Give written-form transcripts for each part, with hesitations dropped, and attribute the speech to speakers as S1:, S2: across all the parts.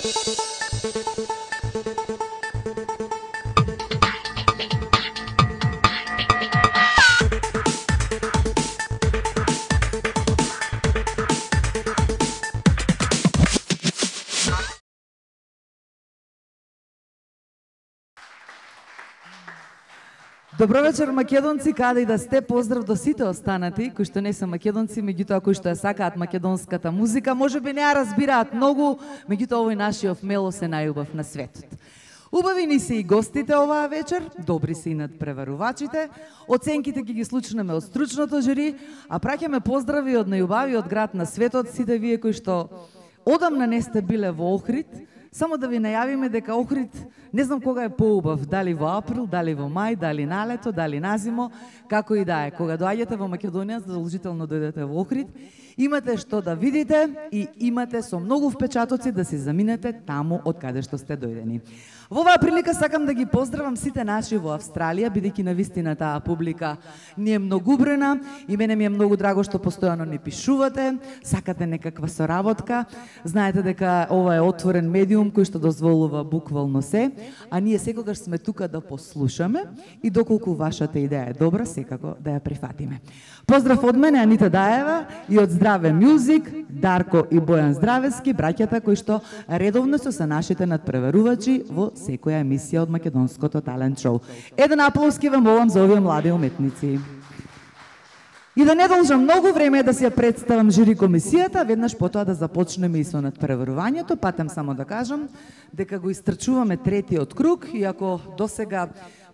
S1: Добро вечер, македонци, каде и да сте, поздрав до сите останати, кои што не се македонци, меѓутоа кои што ја сакаат македонската музика, може би не ја разбираат многу, меѓутоа овој нашиот мело се најубав на светот. Убави ни се и гостите оваа вечер, добри се и надпреварувачите, оценките ги слушнеме од стручното жури, а праќаме поздрави од најубавиот град на светот, сите вие кои што одамна не сте биле во Охрид. Само да ви најавиме дека Охрид не знам кога е поубав, дали во април, дали во мај, дали на лето, дали на зимо, како и да е. Кога доаѓате во Македонија, задолжително дојдете во Охрид, имате што да видите и имате со многу впечатоци да си заминете таму од каде што сте дојдени. Во оваа прилика сакам да ги поздравам сите наши во Австралија, бидејќи навистина таа публика ни е многубрена и мене ми е многу драго што постојано ни пишувате, сакате некаква соработка. Знаете дека ова е отворен медиум кој што дозволува буквално се, а ние секогаш сме тука да послушаме и доколку вашата идеја е добра, секако да ја прифатиме. Поздрав од мене, Анита Даева, и од Здраве Мюзик, Дарко и Бојан Здравески, браќата кои што редовно се нашите надпреварувачи во секоја емисија од македонското талент шоу. Еден аплауски вам молам за овие млади уметници. И да не должам многу време да си ја представам жури комисијата, веднаш потоа да започнеме и со надпреварувањето, патем само да кажам дека го истрчуваме третиот круг, иако досега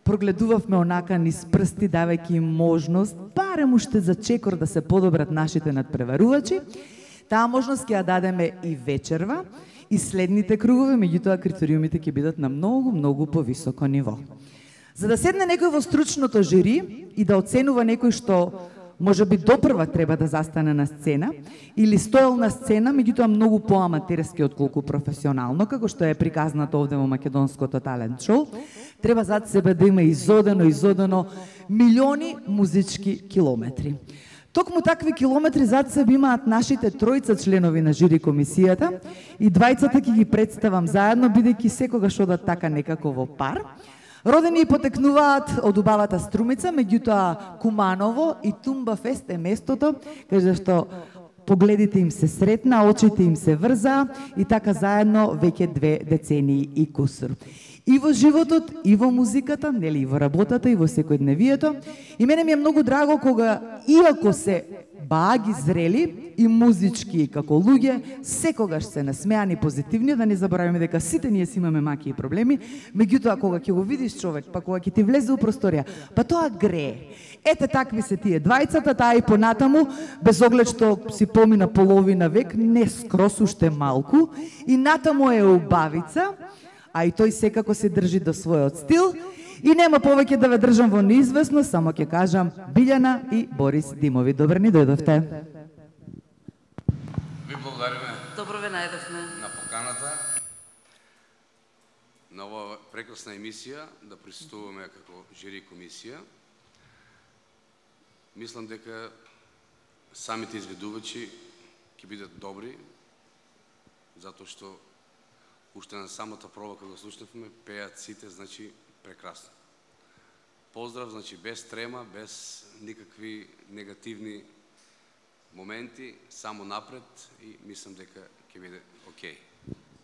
S1: прогледувавме онака низ прсти, давајќи им можност, барем уште за чекор да се подобрат нашите надпреварувачи. Таа можност ќе ја дадеме и вечерва, и следните кругови, меѓутоа критериумите ќе бидат на многу повисоко ниво. За да седне некој во стручното жури и да оценува некој што може би допрва треба да застане на сцена или стоел на сцена, меѓутоа многу поаматерски отколку професионално, како што е приказнато овде во македонското талент шоу, треба зад себе да има изодено милиони музички километри. Токму такви километри зад себе имаат нашите тројца членови на жури комисијата и двајцата ќе ги представам заедно, бидејќи секогаш одат така некако во пар. Родени и потекнуваат од убавата Струмица, меѓутоа Куманово и Тумба Фест е местото каде што погледите им се сретна, очите им се врза и така заедно веќе 2 децении и кусур. И во животот, и во музиката, нели, и во работата, и во секојдневието. И мене ми е многу драго кога, иако се бааги зрели и музички како луѓе, секогаш се насмеани позитивни, да не забораваме дека сите ние си имаме маки и проблеми, меѓутоа кога ќе го видиш човек, па кога ќе ти влезе у просторија, па тоа грее. Ете такви се тие двајцата, таа и понатаму, без оглед што си помина половина век, не скрос уште малку, и натаму е убавица, а и тој секако се држи до својот стил. И нема повеќе да ве држам во неизвестно, само ќе кажам Билјана и Борис Димови. Добре ни дојдовте.
S2: Ви благодариме.
S3: Добро ве најдовме.
S2: На поканата на оваа прекрасна емисија да присуствуваме како жури комисија. Мислам дека самите изведувачи ќе бидат добри, затоа што уште на самата проба кога слушнавме, пеат сите, значи прекрасно. Поздрав, значи без трема, без никакви негативни моменти, само напред и мислам дека ќе биде окей.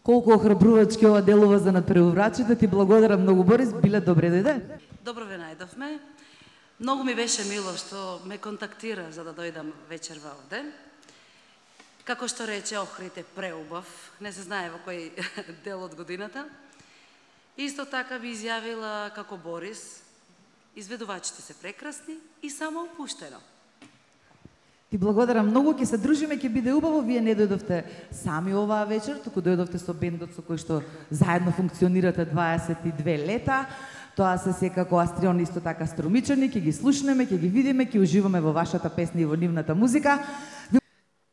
S1: Колку охрабрувачки ова делува за надпреварувачите, ти благодарам многу, Борис, биле добре дојде.
S3: Добро ве најдовме. Многу ми беше мило што ме контактира за да дојдам вечерва овде. Како што рече, Охрид е преубав, не се знае во кој дел од годината. Исто така би изјавила како Борис, изведувачите се прекрасни и само опуштено.
S1: Ти благодарам многу, ќе се дружиме, ќе биде убаво. Вие не дојдовте сами оваа вечер, туку дојдовте со бендот со кој што заедно функционирате 22 лета. Тоа се секако Астрион, исто така Струмичани, ќе ги слушнеме, ќе ги видиме, ќе уживаме во вашата песна и во нивната музика.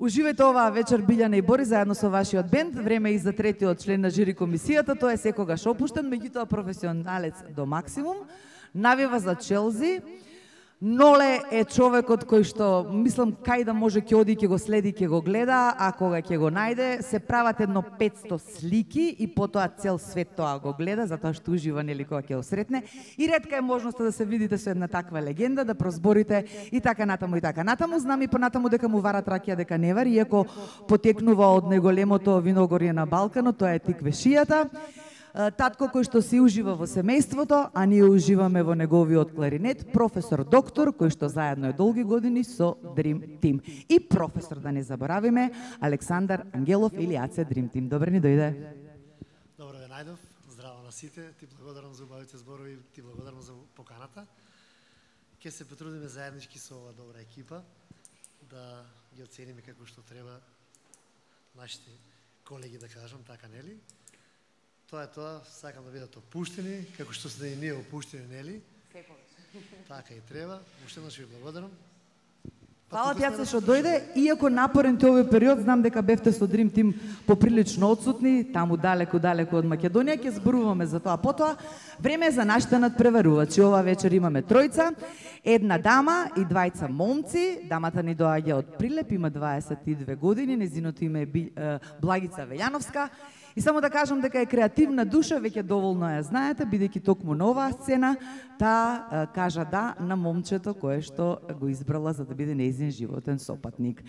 S1: Уживајте оваа вечер Билјана и Борис заедно со вашиот бенд. Време и за третиот член на жури комисијата, тој е секогаш опуштен, меѓутоа професионалец до максимум. Навива за Челзи, Ноле е човекот кој што, мислам, кај да може ќе оди, ќе го следи, ќе го гледа, а кога ќе го најде, се прават едно 500 слики и потоа цел свет тоа го гледа, затоа што ужива нели кога ќе го сретне. И ретка е можноста да се видите со една таква легенда, да прозборите и така натаму и така натаму. Знам и понатаму дека му варат ракија дека не вари, иако потекнува од неголемото виногорје на Балканот, тоа е тиквешијата. Татко кој што си ужива во семејството, а ние уживаме во неговиот кларинет, професор доктор, кој што заедно е долги години со Dream Team. И професор, да не заборавиме, Александар Ангелов или Аце Dream Team. Добре ни дојде.
S4: Добро ве најдов, здраво на сите, ти благодарам за убавите зборови, ти благодарам за поканата. Ке се потрудиме заеднички со ова добра екипа да ги оцениме како што треба нашите колеги, да кажам, така нели? Тоа е тоа, сакам да бидат опуштени, како што сте и ние опуштени, нели? Така и треба. Уште еднаш ви благодарам.
S1: Фала ти, Аце, што дојде, иако напорен ти овој период, знам дека бевте со Dream Team поприлично отсутни, таму далеку од Македонија, ќе зборуваме за тоа потоа. Време е за нашите надпреварувачи. Ова вечер имаме тројца, една дама и двајца момци. Дамата ни доаѓа од Прилеп, има 22 години, незиното име е Благица Велјановска. И само да кажам дека е креативна душа, веќе доволно ја знаете, бидејќи токму на оваа сцена, таа кажа да на момчето кое што го избрала за да биде нејзин животен сопатник.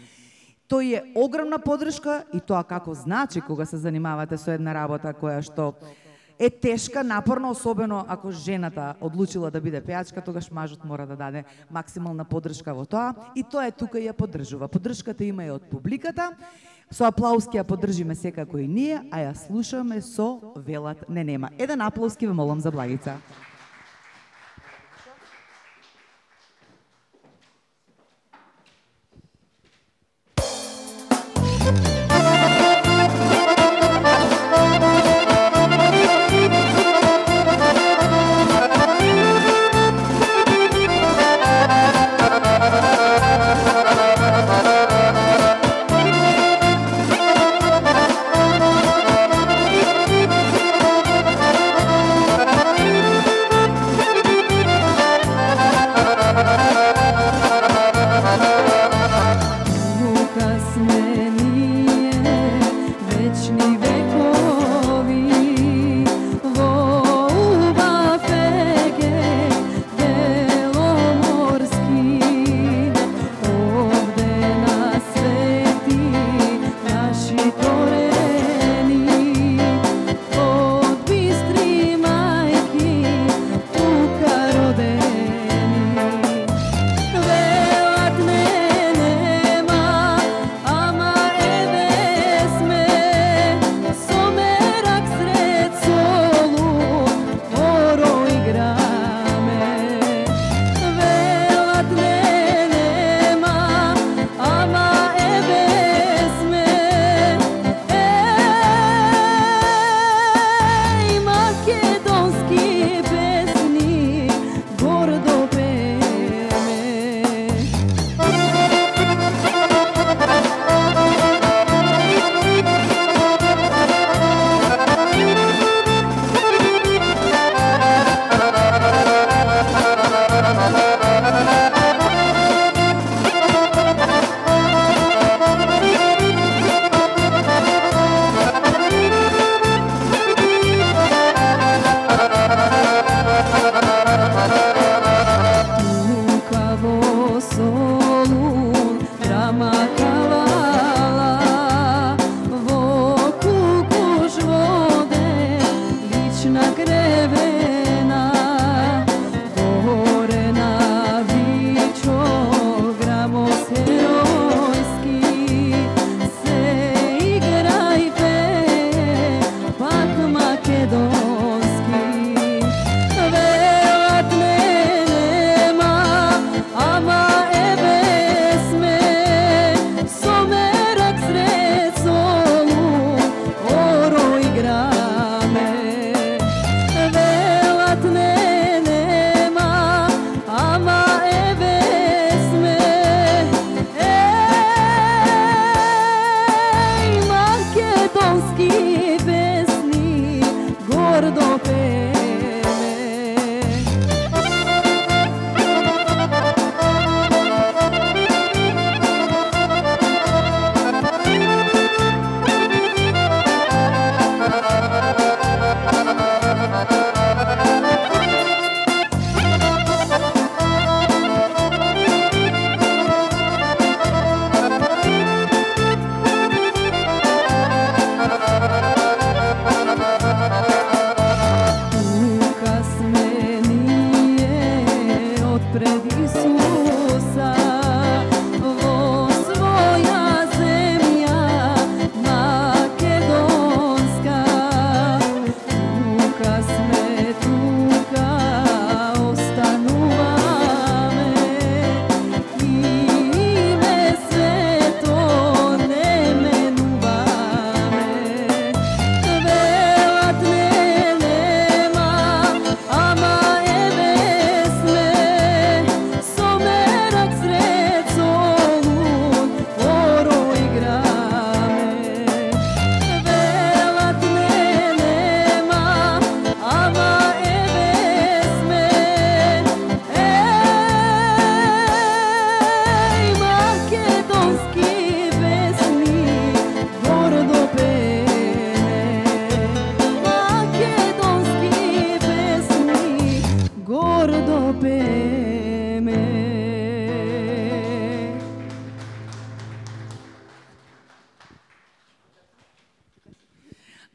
S1: Тој е огромна подршка и тоа како значи кога се занимавате со една работа која што е тешка, напорна, особено ако жената одлучила да биде пејачка, тогаш мажот мора да даде максимална подршка во тоа и тоа е тука и ја поддржува. Поддршката има и од публиката. Со аплауз ќе ја поддржиме секако и ние, а ја слушаме со Велат не нема. Еден аплауз ке ве молам за Благица.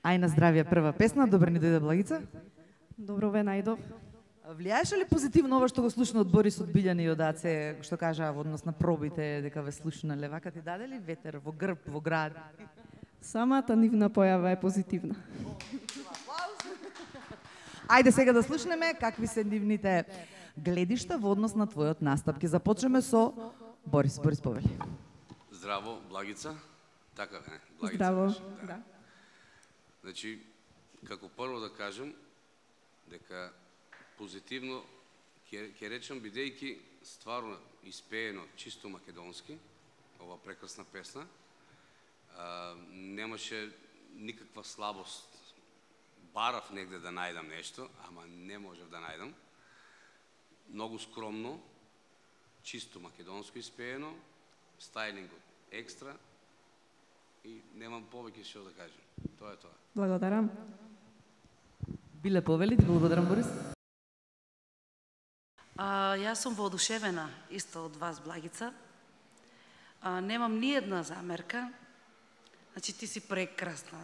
S1: Ај на здравје, прва песна, добро ни дојде Благица.
S5: Добро ве најдов.
S1: Влијаеше ли позитивно ова што го слушна од Борис од Билјани и од Аце, што кажа во однос на пробите, дека ве слушнале? Вака ти даде ли ветер во грб, во град?
S5: Самата нивна појава е позитивна.
S1: Ајде сега да слушнеме какви се нивните гледишта во однос на твојот настап. Ќе започнеме со Борис. Борис, повели.
S2: Здраво, Благица. Така, не, Благица.
S5: Здраво.
S2: беше,
S5: Да.
S2: Значи, како прво да кажем, дека позитивно, ќе речем, бидејќи стварно испеено чисто македонски, ова прекрасна песна, немаше никаква слабост. Барав негде да најдам нешто, ама не можев да најдам. Многу скромно, чисто македонско испеено, стајлингот екстра и немам повеќе што да кажем. Тоа е тоа.
S5: Благодарам.
S1: Биле, повели, ти благодарам, Борис.
S3: Јас сум воодушевена исто од вас, Благица. Немам ни една замерка. Значи, ти си прекрасна,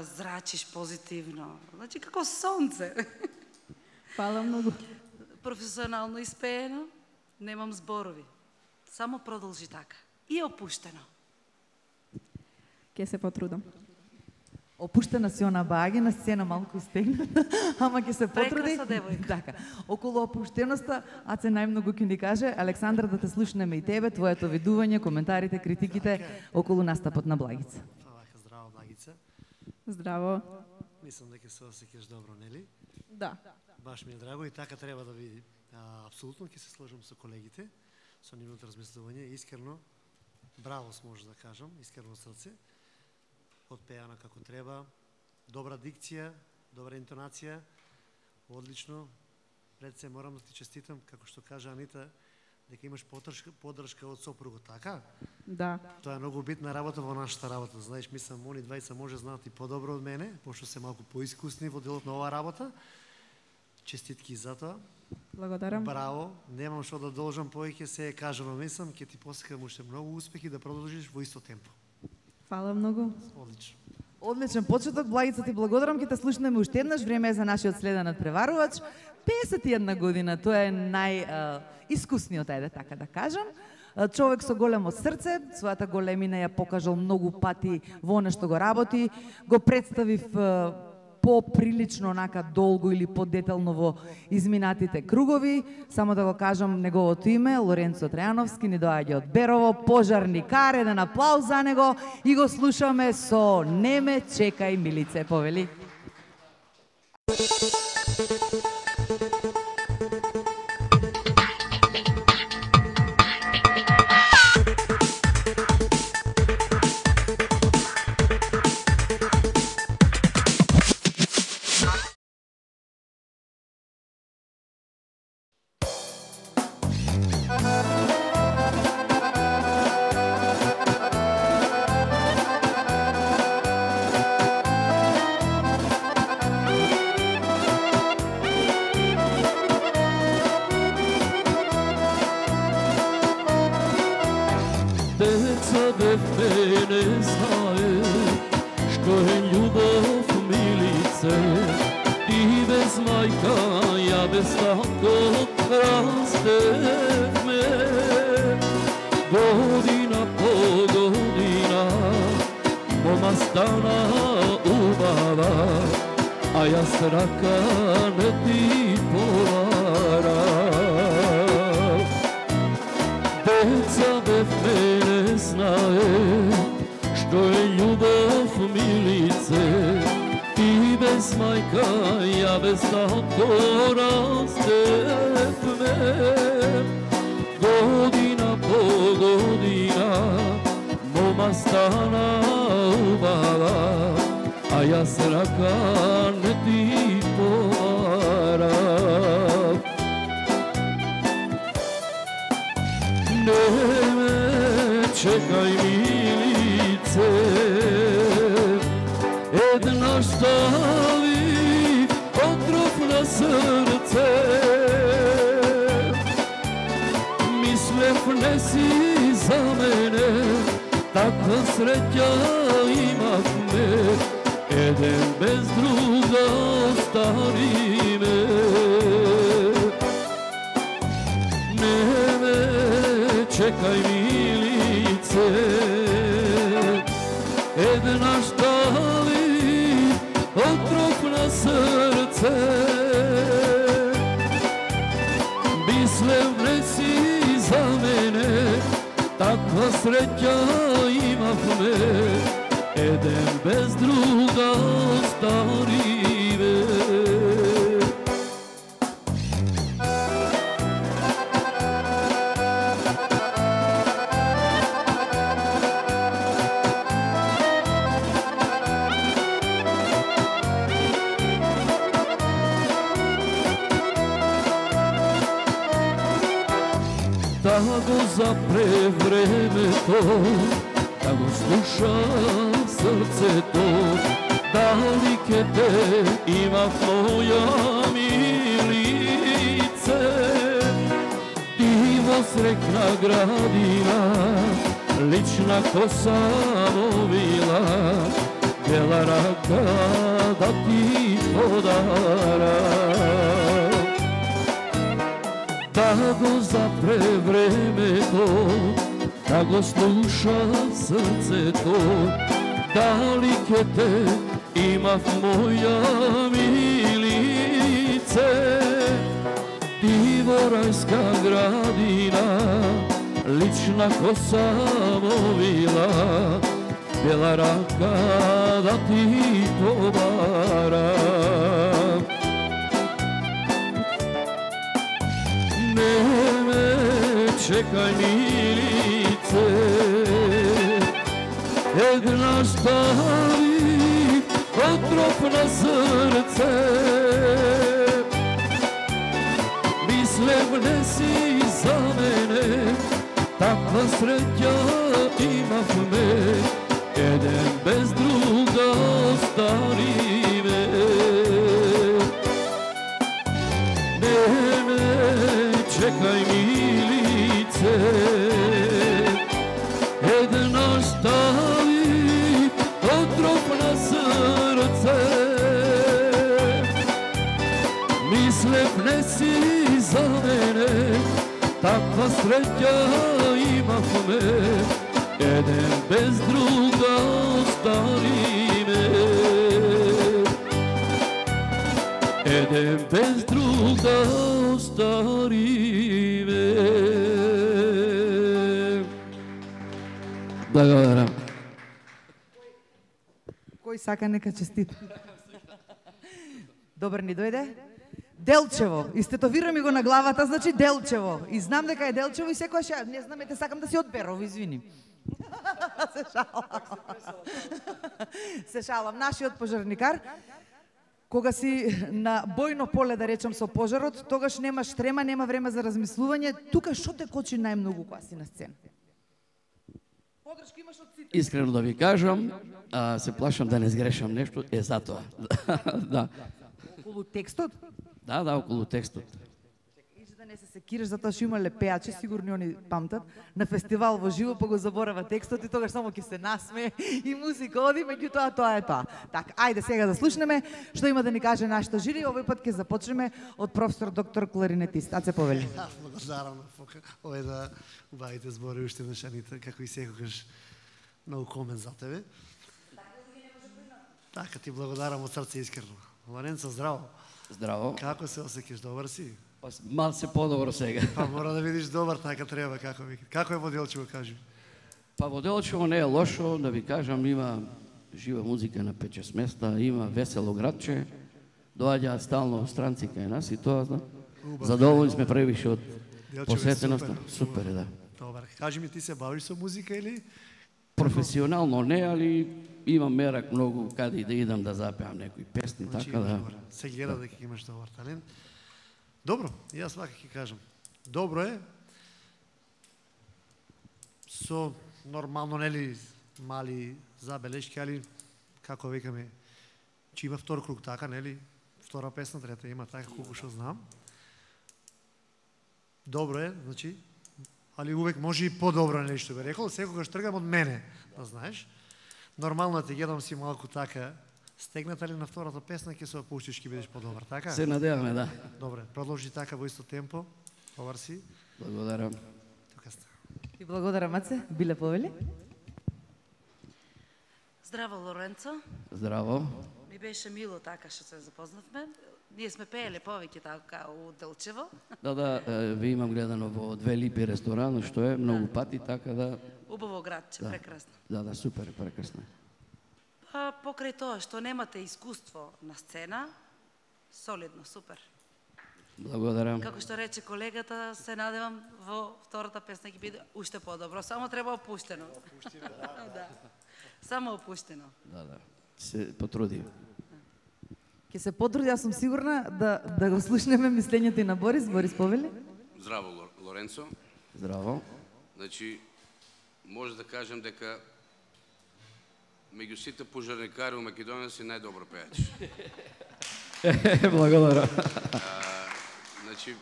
S3: зрачиш позитивно. Значи, како сонце.
S5: Фала многу.
S3: Професионално испеено, немам зборови. Само продолжи така. И опуштено.
S5: Ке се потрудам.
S1: Опуштена си она баги на сцена, малку истегната, ама ќе се потруди.
S3: Прекрасна девојка.
S1: Така. Околу опуштеноста, Аце најмногу ќе ни каже, Александра, да те слушнеме и тебе, твоето видување, коментарите, критиките околу настапот на Благица.
S4: Вака, здраво, Благица.
S5: Здраво.
S4: Мислам дека се осеќаш добро, нели?
S5: Да.
S4: Баш ми е драго и така треба да види. Апсолутно ќе се сложам со колегите, со нивното размислување. Искрено, браво може да кажам, искрено срце. Отпеана како треба, добра дикција, добра интонација, одлично. Пред се морам да ти честитам, како што кажа Анита, дека имаш поддршка од сопругот, така?
S5: Да.
S4: Тоа е многу битна работа во нашата работа. Знаеш, мислам, они двајца може знаат и подобро од мене, пошто се малку поискусни во делот на оваа работа. Честитки за тоа.
S5: Благодарам.
S4: Браво, немам што да должам повеќе, се е кажано, мислам, ќе ти посекам уште многу успехи да продолжиш во исто темпо.
S5: Фала многу.
S4: Одлично.
S1: Одличен почеток, Благица, ти благодарам, ќе те слушнеме уште еднаш, време е за нашиот следен надпреварувач. 51 година, тоа е најискусниот, ајде така да кажам. Човек со големо срце, својата големина ја покажал многу пати во она што го работи, го представив поприлично онака долго или подетално во изминатите кругови. Само да го кажам неговото име, Лоренцо Трајановски, ни доаѓа од Берово, пожарникар, еден аплауз за него и го слушаме со "Не ме чекај, милице", повели.
S6: Čekaj milice, jedna stavi otrov na srce. Mislev ne si za mene, takva sreća imah me. еден без друга остави ме. Не ме чекај милице, една штали отров на срце. Мислев не си за мене, таква среќа имавме, еден без друга остави ме. Да го запре времето, да го слуша срцето, дали ке те има в моја милице. Диво срекна градина, лична коса мовила, бела рака да ти подара. Да го запре времето, да го слуша срцето, дали ке те има в моја милице. Диво рајска градина, лична коса мовила, бела рака да ти побара. Не ме чекај милице, една стави отров на срце. Мислев не си за мене, таква среќа имавме, еден без друга остави ме. Не ме чекај милице, една стави отров на срце. Мислев не си за мене, таква среќа имавме, еден без друга остави ме. Еден без друга остави ме. Благодарам.
S1: Кој сака нека честит. Добар ни дојде. Делчево. Истетовира ми го на главата, значи Делчево. И знам дека е Делчево и секојаш ја, не знам, ете сакам да си од Берово, извини. Се шалам. Се шалам. Нашиот пожарникар, кога си на бојно поле, да речам, со пожарот, тогаш немаш трема, нема време за размислување. Тука што те кочи најмногу кога си на сцена? Подршка имаш од сите.
S6: Искрено да ви кажам, се плашам да не сгрешам нешто, е затоа. Да.
S1: Околу текстот?
S6: Да, околу текстот.
S1: Иже да не се секираш, затоа што имале пеачи, сигурно они памтат, на фестивал во живо, па го заборава текстот и тогаш само ќе се насме и музика оди, меѓутоа тоа е тоа. Така, ајде сега да слушнеме што има да ни каже нашата жири. Овој пат ќе започнеме од професор доктор кларинетист. Аце Повели.
S4: Благодарам на Фока. Овој да убавите збори уште на Шанита, како и секогаш многу комен за тебе. Така ти благодарам од срце искрено. Лоренцо, здраво.
S6: Здраво.
S4: Како се осеќаш, добар си?
S6: Мал се подобро сега.
S4: Па мора да видиш добар, така треба, како ви. Како е во Делчево, кажи?
S6: Па во Делчево не е лошо, да ви кажам, има жива музика на 5-6 места, има весело градче, доаѓаат стално странци кај нас и тоа, знам. Задоволни сме превише од посетеноста. Супер е, да.
S4: Добар. Кажи ми, ти се бавиш со музика или?
S6: Професионално не, али имам мерак многу каде и да идам да запеам некои песни,
S4: Значи,
S6: така да.
S4: добар. Се гледа дека имаш добар талент. Добро, јас вака ќе кажам. Добро е. Со нормално, нели, мали забелешки, али како викаме, че има втор круг, така, нели? Втора песна, трета има, така колку што знам. Добро е, значи, али увек може и подобро, нели, што би рекол, секогаш тргам од мене, да знаеш. Нормално те гледам си малку така Стегната ли на втората песна, ќе се опуштиш, ќе бидеш подобар, така?
S6: Се надеваме, да.
S4: Добре, продолжи така во исто темпо. Добар си.
S6: Благодарам.
S4: Тука сте.
S1: И благодарам, Маце. Биле повели?
S3: Здраво, Лоренцо.
S6: Здраво.
S3: Ми беше мило така што се запознавме. Ние сме пееле повеќе така у Делчево.
S6: Да, ви имам гледано во Две липи ресторан, што е многу пати, така да...
S3: Убаво градче, прекрасно.
S6: Да, супер, прекрасно.
S3: Па покрај тоа што немате искуство на сцена, солидно, супер.
S6: Благодарам.
S3: Како што рече колегата, се надевам во втората песна ќе биде уште подобро, само треба опуштено. Да. Само опуштено.
S6: Да. Се потрудим.
S1: Ќе се потруди, јас сум сигурна да го слушнеме мислењето и на Борис. Борис, повели?
S2: Здраво, Лоренцо.
S6: Здраво.
S2: Значи, може да кажем дека меѓу сите пожарникари во Македонија си најдобар пејач.
S6: Благодарам.
S2: Значи,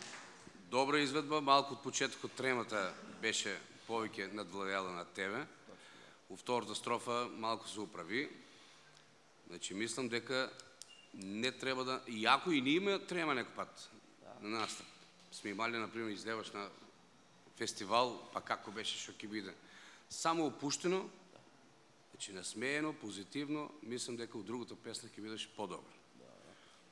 S2: добра изведба, малку од почетокот тремата беше повеќе надвладеала на тебе. У втората строфа малку се управи. Значи, мислам дека не треба да... Иако и ние има трема некој пат на настап. Сме имали, например, излеваш на фестивал, па како беше, што ќе биде. Само опуштено, значи насмеено, позитивно, мислам дека у другата песна ќе бидеш подобар.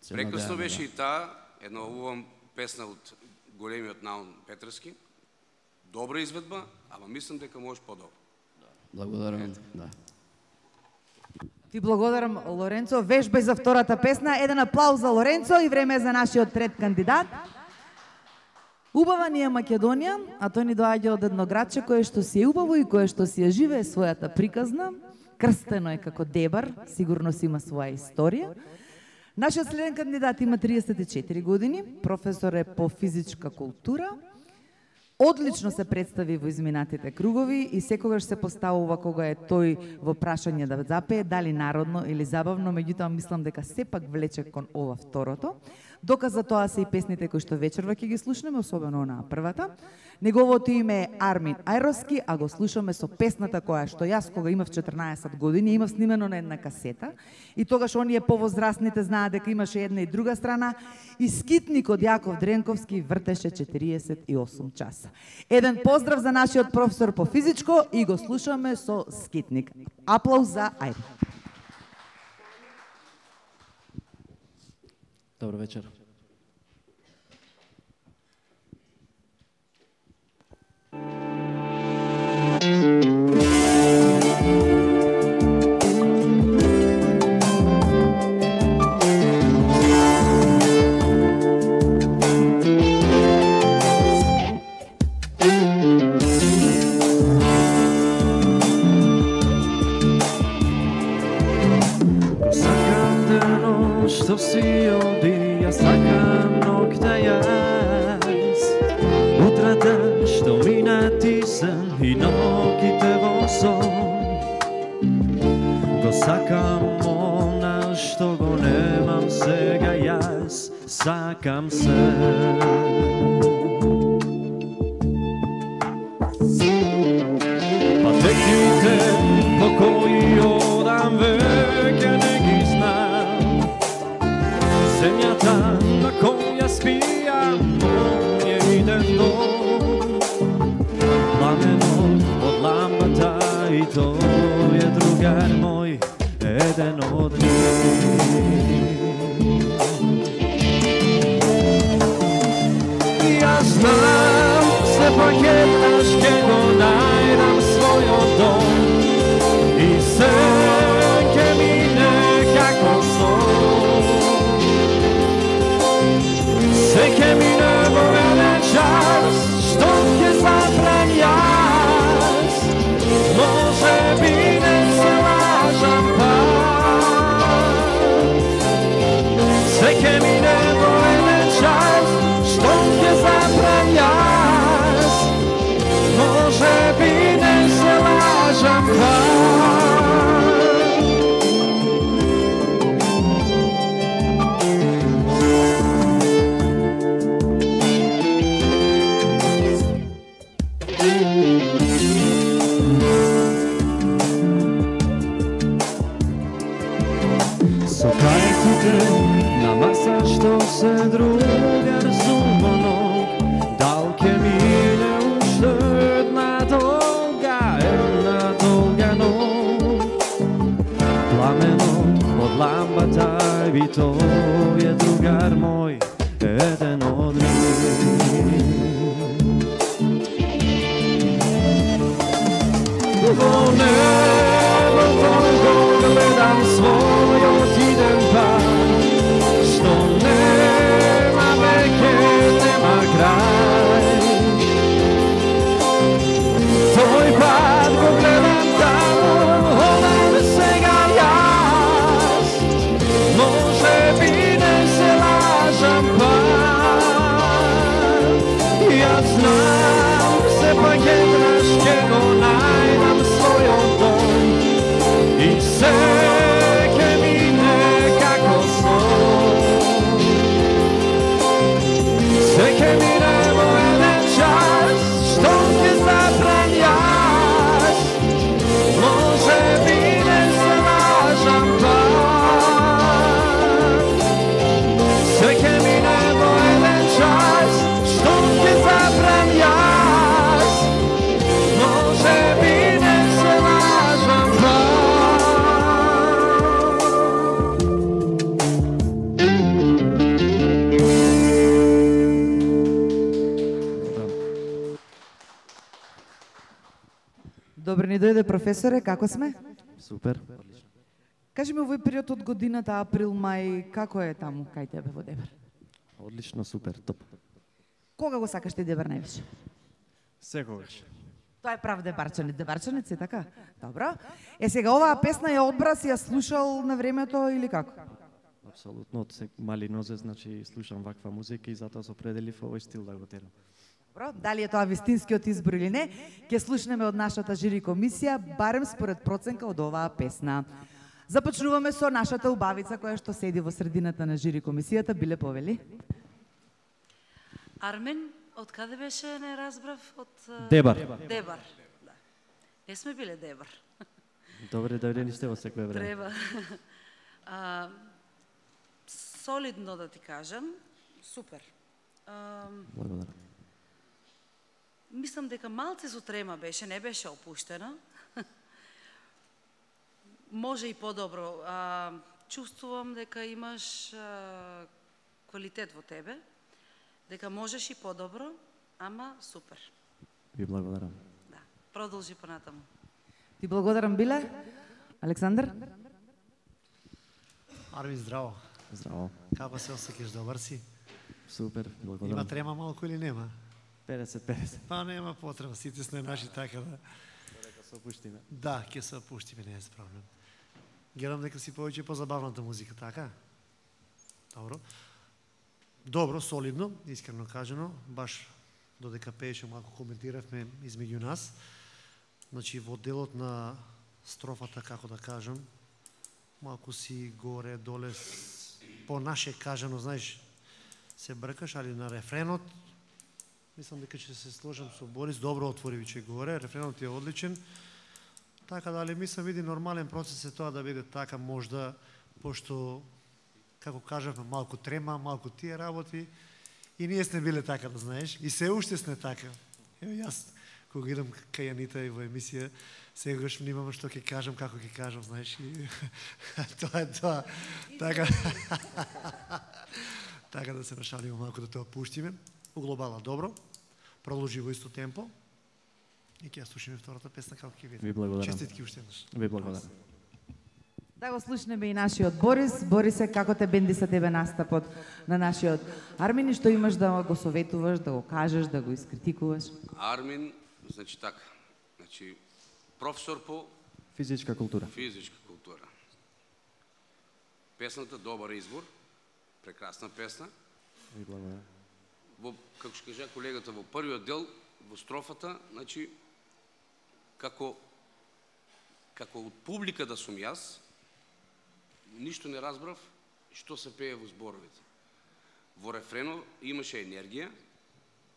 S2: Прекрасно беше и таа, една убава песна од големиот Наун Петровски. Добра изведба, ама мислам дека можеш подобро.
S6: Благодарам, да.
S1: Ви благодарам, Лоренцо. Вежба за втората песна. Еден аплауз за Лоренцо и време е за нашиот трет кандидат. Убава ни е Македонија, а тој ни доаѓа од едно градче кое што си е убаво и кое што си ја живее својата приказна. Крстено е како Дебар, сигурно си има своја историја. Нашиот следен кандидат има 34 години, професор е по физичка култура. Одлично се представи во изминатите кругови и секогаш се поставува кога е тој во прашање да запее, дали народно или забавно, меѓутоа мислам дека сепак влече кон ова второто. Доказ за тоа се и песните кои што вечерва ќе ги слушнеме, особено онаа првата. Неговото име е Армин Ајровски, а го слушаме со песната која што јас кога имав 14 години имав снимено на една касета и тогаш оние повозрастните знаат дека имаше една и друга страна и скитник од Јаков Дренковски вртеше 48 часа. Еден поздрав за нашиот професор по физичко и го слушаме со скитник. Аплауз за Ајр.
S7: Добро вечер.
S8: Што си оди, јас сакам ноќта јас. Утрата што мина ти сам и ноќите во сон. Го сакам она што го немам сега јас, сакам се. Патеките по кои одам веќе не ги знам. Земјата на која спијам, мој иден дом. Пламенот од лампата и тој е другар мој, еден од нив. Јас знам, се пак еднаш ке го најдам својот дом и се ке мине како сон. Se che mi nevo nelle čas, što ќе zaprem јас, може би не се лажам пак. Se che mi nevo nelle čas, što ќе zaprem јас, може би не се лажам пак. се другар сумонок, дал ке мине уште една долга ног. Пламенот од лампата би тој е другар мој, еден од нив. Во небото го гледам својот иден пат, што нема веќе, нема крај. Тој пат го гледам таму, одам сега јас, може би не се лажам пат. Јас знам, сепак еднаш ќе го најдам својот дом и се ќе мине како сон. Се ќе мине во еден час, што ќе запрем јас, може би не се лажам пак. Се ќе мине во еден час, што ќе запрем јас, може би не се лажам пак.
S1: Добро ни дојде професоре, како сме?
S8: Супер.
S1: Кажи ми овој период од годината, април, мај, како е таму кај тебе во Дебар?
S8: Одлично, супер, топ.
S1: Кога го сакаш ти Дебар највише?
S8: Секогаш.
S1: Тоа е прав дебарчанец е така? Добро. Сега оваа песна ја одбра, си ја слушал на времето или како?
S8: Апсолутно, од мали нозе, значи слушам ваква музика и затоа се определив овој стил да го терам.
S1: Добро, дали е тоа вистинскиот избор или не, ќе слушнеме од нашата жири комисија, барем според проценка од оваа песна. Започнуваме со нашата убавица која што седи во средината на жири комисијата, Биле повели.
S3: Армен, од каде беше, не разбрав? Од
S8: Дебар.
S3: Дебар. Да. Не сме биле Дебар.
S8: Добре, дојдени сте во секое време.
S3: Треба. Солидно да ти кажам, супер.
S8: Благодарам.
S3: Мислам дека малце со трема беше, не беше опуштена. Може и подобро. Чувствувам дека имаш квалитет во тебе, дека можеш и подобро, ама супер.
S8: Ви благодарам.
S3: Да, продолжи понатаму.
S1: Ти благодарам, Биле. Александар?
S4: Арви, здраво.
S8: Здраво.
S4: Како се осеќаш, добар си?
S8: Супер,
S4: Има
S8: благодарам.
S4: трема малку или нема?
S8: 50-50.
S4: Па нема потреба, сите сме наши така да...
S8: Дека се опуштиме.
S4: Да, ќе се опуштиме, не е проблем. Гледам дека си повеќе позабавната музика, така? Добро. Добро, солидно, искрено кажано, баш додека пееше малку коментиравме измеѓу нас. Значи, во делот на строфата, како да кажам, малку си горе, доле, по наше кажано, знаеш, се бркаш, али на рефренот, мислам дека ќе се сложам со Борис, добро отвори виче горе, рефренот е одличен, така дали мислам види нормален процес е тоа да биде така можда, пошто, како кажавме, малку трема, малку тие работи, и ние сме биле така, да знаеш, и се уште сме така. Ево јас, кога идам кај Анита и во емисија, сегаш внимавам што ќе кажам, како ќе кажам, знаеш, и тоа е тоа. Така, така да се нашалиме малку да тоа пуштиме. У глобала добро, продолжи во исто темпо и ќе ја слушаме втората песна како ќе види.
S8: Ви благодарам.
S4: Честитки уште еднаш.
S8: Ви благодарам.
S1: Да го слушнеме и нашиот Борис. Борисе, како те бенди sa тебе настапот на нашиот Армин и што имаш да го советуваш, да го кажеш, да го искритикуваш?
S2: Армин, значи така, значи професор по
S8: Физичка култура.
S2: физичка култура. Песната добар избор, прекрасна песна.
S8: Ви благодарам.
S2: Како што кажа колегата, во првиот дел, во строфата, значи, како од публика да сум јас, ништо не разбрав што се пее во зборовите. Во рефрено имаше енергија,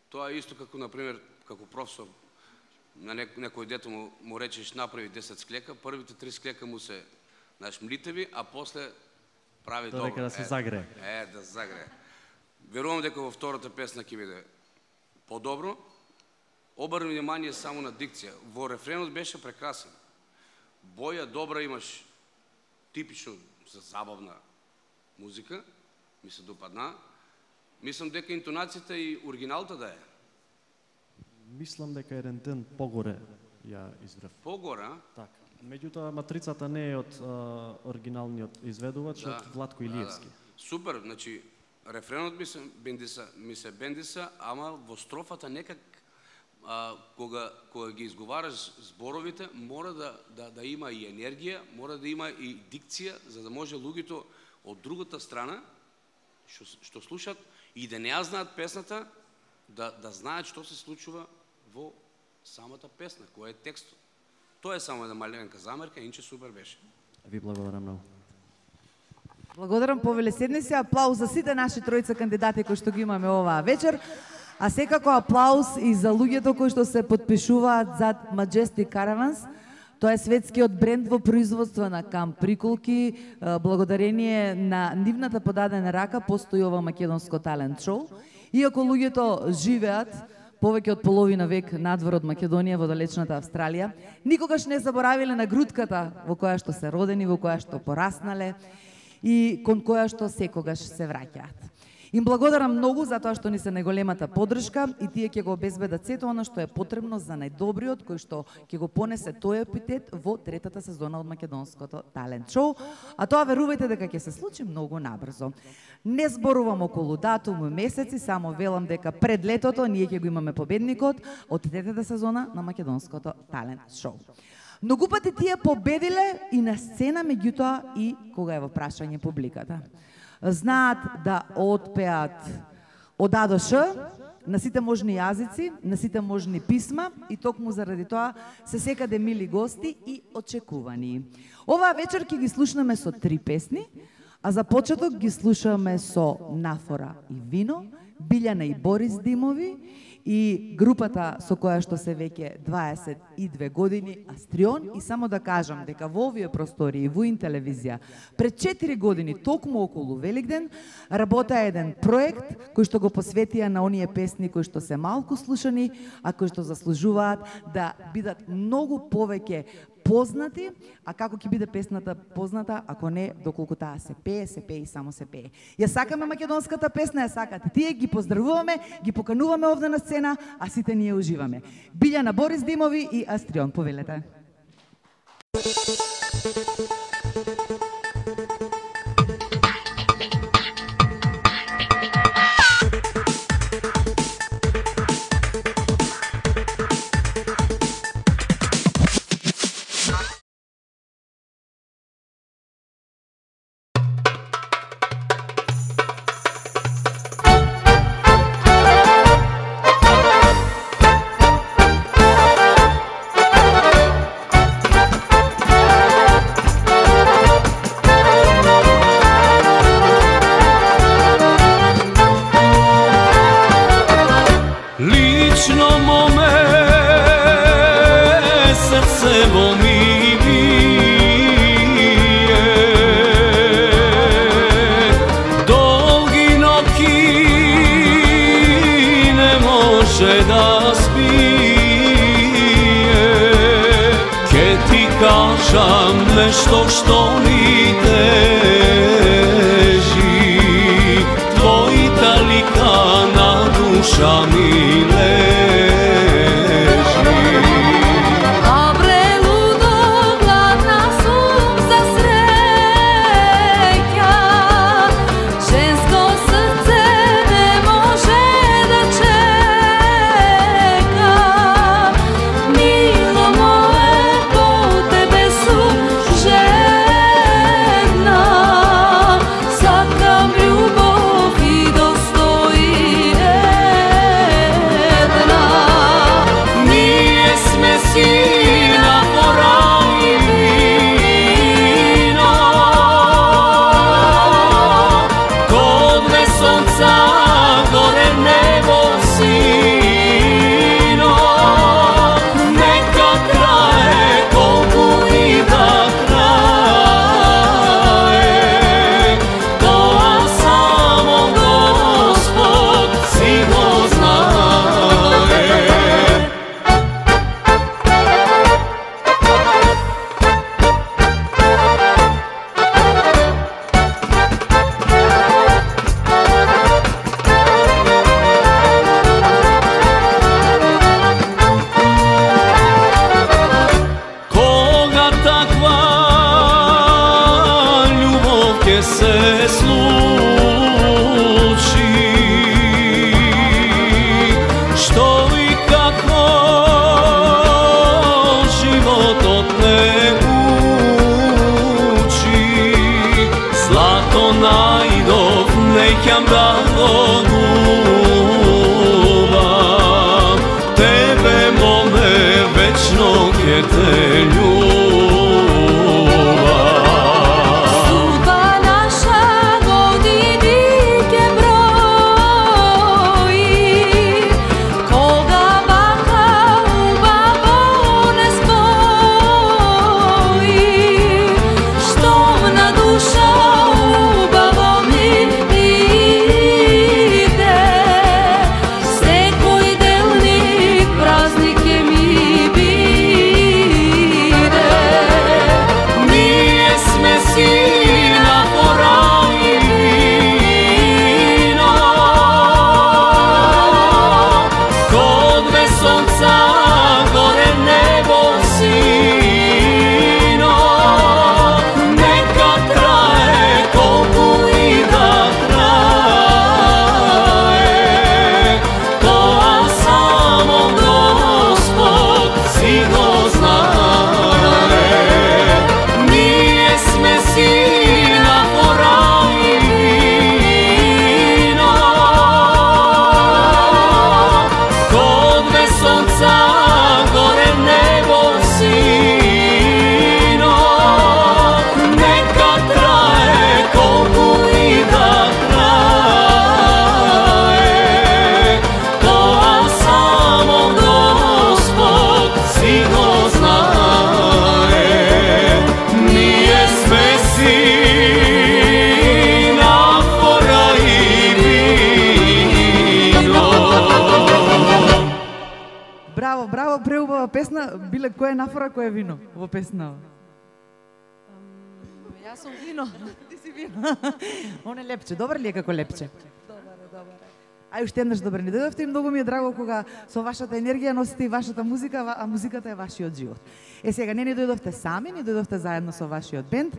S2: тоа е исто како, например, како професор, на некој дете му речеш направи 10 склека, првите 3 склека му се, знаеш, млитеви, а после прави добро.
S8: Додека да се загрее.
S2: Да загрее. Верувам дека во втората песна ќе биде подобро. Обрни внимание само на дикција. Во рефренот беше прекрасен. Боја добра имаш, типично за забавна музика, ми се допадна. Мислам дека интонацијата и оригиналта да е.
S7: Мислам дека еден тен погоре ја изврев.
S2: Погоре, а?
S7: Така. Меѓутоа матрицата не е од оригиналниот изведувач, од Владко Илиевски.
S2: Супер, значи рефренот ми се бендиса, ама во строфата некак кога ги изговараш зборовите, мора да има и енергија, мора да има и дикција, за да може луѓето од другата страна што слушат и да не ја знаат песната, да знаат што се случува во самата песна, кој е текстот. Тоа е само една маленка замерка, инче супер беше.
S7: Ви благодарам многу.
S1: Благодарам, повеле, седни се. Аплауз за сите наши тројца кандидати кои што ги имаме оваа вечер. А секако аплауз и за луѓето кои што се подпишуваат зад Majestic Caravans. Тоа е светскиот бренд во производство на камп приколки. Благодарение на нивната подадена рака постои ова македонско талент шоу. Иако луѓето живеат повеќе од половина век надвор од Македонија во далечната Австралија, никогаш не заборавиле на грудката во која што се родени, во која што пораснале и кон која што секогаш се враќаат. Им благодарам многу за тоа што ни се најголемата поддршка и тие ќе го обезбедат сето она што е потребно за најдобриот кој што ќе го понесе тој епитет во третата сезона од македонското талент шоу, а тоа верувајте дека ќе се случи многу набрзо. Не зборувам околу датум, месеци, само велам дека пред летото ние ќе го имаме победникот од третата сезона на македонското талент шоу. Многу пати тие победиле и на сцена, меѓутоа и кога е во прашање публиката. Знаат да отпеат од А до Ш на сите можни јазици, на сите можни писма и токму заради тоа се секаде мили гости и очекувани. Оваа вечер ќе ги слушнеме со 3 песни, а за почеток ги слушаме со Нафора и Вино, Билјана и Борис Димови и групата со која што се веќе 22 години Астрион. И само да кажам дека во овие простори и во Интелевизија пред 4 години, токму околу Великден, работа еден проект кој што го посветија на оние песни кои што се малку слушани, а кои што заслужуваат да бидат многу повеќе познати, а како ќе биде песната позната, ако не, доколку таа се пее и само се пее. Ја сакаме македонската песна, ја сакате тие, ги поздравуваме, ги покануваме овде на сцена, а сите ние уживаме. Билјана, Борис Димови и Астрион, повелете.
S8: Нешто што ми тежи, твојата лика на душа ми лежи.
S9: А прелудо гладна сум за среќа, женско срце не може да чека. Мило мое, по тебе сум жедна.
S8: среќам да го љубам, тебе моле вечно ке те љубам.
S9: Судба наша години ке брои, кога бака убаво не спои, штом на душа убаво ми иде, секој делник празник ќе ми биде.
S8: Ние сме сина пора и вино, код две сонца горе небо сино, нека трае колку и да трае, тоа само Господ си го знае. Ние сме сина пора и вино, код две сонца горе небо сино, нека трае колку и да трае, тоа само Господ си го знае. Ние сме сина пора и вино.
S1: Браво, браво, преубава песна. Биле, кој е нафора, кој е вино во песна?
S3: Јас сум вино.
S1: Ти си вино. Он е лепче. Добар ли е како лепче?
S3: Добар.
S1: Ај уште еднаш добар ни дојдовте и многу ми е драго кога со вашата енергија носите и вашата музика, а музиката е вашиот живот. Сега не ни дојдовте сами, ни дојдовте заедно со вашиот бенд.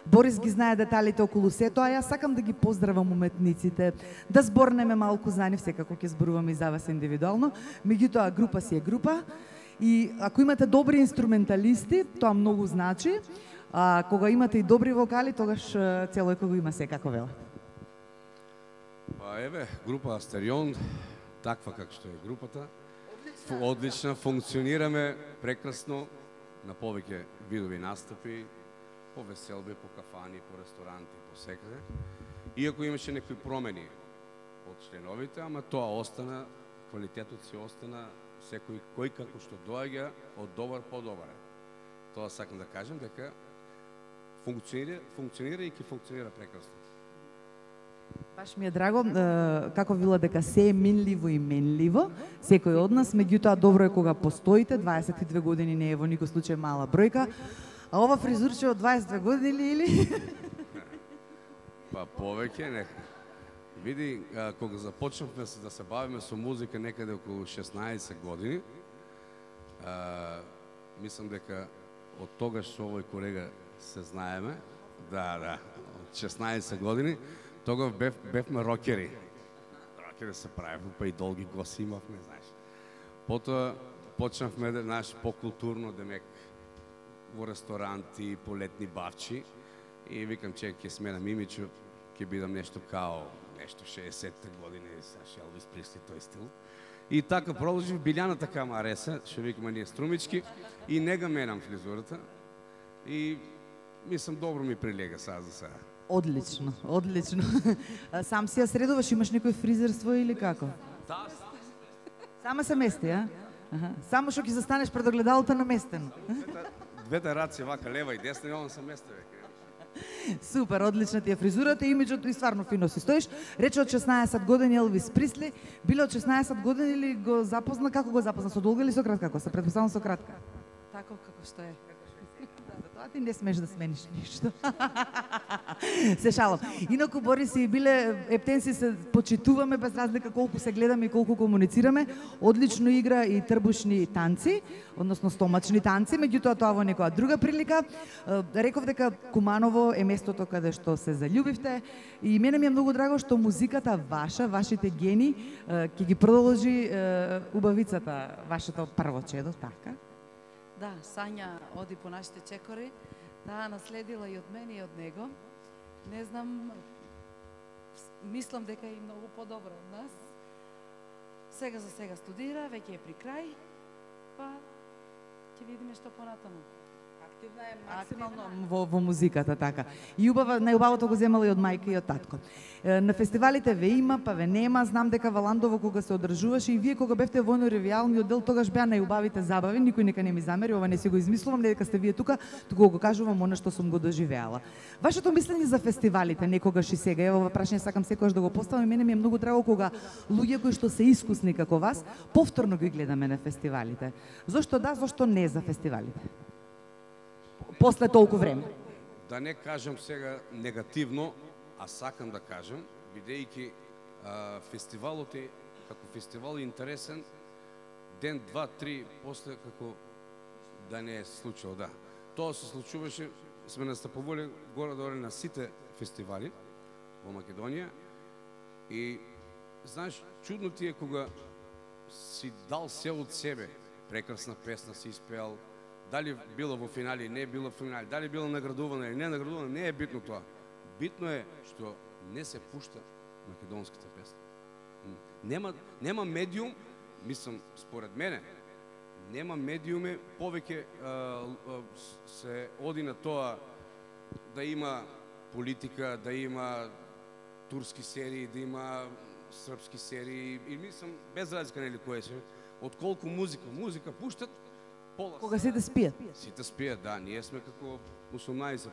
S1: Борис ги знае деталите околу сето, а јас сакам да ги поздравам уметниците, да зборнеме малку за нив, секако ќе зборуваме и за вас индивидуално. Меѓутоа, група си е група и ако имате добри инструменталисти, тоа многу значи. А кога имате и добри вокали, тогаш целој кого има секако велат.
S2: Па еве, група Астерион, таква како што е групата. Одлична, функционираме прекрасно на повеќе видови настапи, по веселби, по кафани, по ресторанти, по секаде. Иако имаше некои промени од членовите, ама тоа остана, квалитетот си остана, секој кој како што доаѓа од добар по добар. Тоа сакам да кажам дека функционира и ќе функционира прекрасно.
S1: Баш ми е драго, како вила дека се е минливо и менливо, секој од нас, меѓутоа добро е кога постоите, 22 години не е во никој случај мала бројка, а ова фризурче од 22 години или?
S2: Па повеќе, нека. Види, кога започнавме да се бавиме со музика некаде околу 16 години, мислам дека од тогаш со овој колега се знаеме, да, од 16 години, тогаш бевме рокери. Рокери се правиме, па и долги коси имавме, знаеш. Потоа почнавме да наш по-културно, демек, во ресторанти, по летни бавчи и викам че ќе сменам имиджу, ќе бидам нешто као нешто 60-те години sa Elvis Presley тој стил. И така продолжив Билјаната кама ареса, што викаме ние струмички и не га менам фризурата. И мислам добро ми прилега сега за сега.
S1: Одлично, одлично. Сам си ја средуваш, имаш некој фризерство или како?
S2: Да.
S1: Сама се мести, а? Само што ќе застанеш пред огледалото наместено.
S2: Двете раце вака лева и десна и он се месте веќе.
S1: Супер, одлична ти е фризурата, имиджот и стварно фино си стоиш. Рече од 16 години Елвис Пресли, биле од 16 години или го запозна, како го запозна, со долга или со кратка коса? Предпоставам со кратка.
S3: Тако како што е.
S1: Тоа ти не смеш да смениш ништо. Се шалам. Инаку Борис и биле ептенси се почитуваме без разлика колку се гледаме и колку комуницираме. Одлично игра и трбушни танци, односно стомачни танци, меѓутоа тоа во некоја друга прилика. Реков дека Куманово е местото каде што се заљубивте и мене ми е многу драго што музиката ваша, вашите гени ќе ги продолжи убавицата, вашето прво чедо, така?
S3: Да, Сања оди по нашите чекори, таа наследила и од мене и од него. Не знам, мислам дека е многу подобро од нас. Сега за сега студира, веќе е при крај, па ќе видиме што понатаму.
S1: Активна е максимално во музиката, така. И убава, најубавото го земала и од мајка и од татко. На фестивалите ве има, па ве нема. Знам дека Валандово кога се одржуваше и вие кога бевте во војно-ревијалниот дел, тогаш беа најубавите забави, никој нека не ми замери, ова не си го измислувам, не дека сте вие тука, туку го кажувам она што сум го доживеала. Вашето мислење за фестивалите некогаш и сега, ево ова прашање сакам секогаш да го поставам, и мене ми е многу драго кога луѓе кои што се искусни како вас, повторно ги гледаме на фестивалите. Зошто да, зошто не за фестивалите? После толку време.
S2: Да не кажам сега негативно, а сакам да кажам, бидејќи фестивалот е, како фестивал е интересен, ден, два, три, после како да не е случило, да. Тоа се случуваше, сме настапували горе-долу на сите фестивали во Македонија и, знаеш, чудно ти е кога си дал се од себе, прекрасна песна си испеал, дали било во финали, не било во финали, дали било наградувана или не наградувана, не е битно тоа. Битно е што не се пушта македонската песна. Нема медиум, мислам, според мене, нема медиуме, повеќе се оди на тоа да има политика, да има турски серии, да има српски серии, и мислам, без разлика нели кој се, отколку музика. Музика пуштат, пола.
S1: Кога сите спијат?
S2: Сите спијат, да. Ние сме како 18+.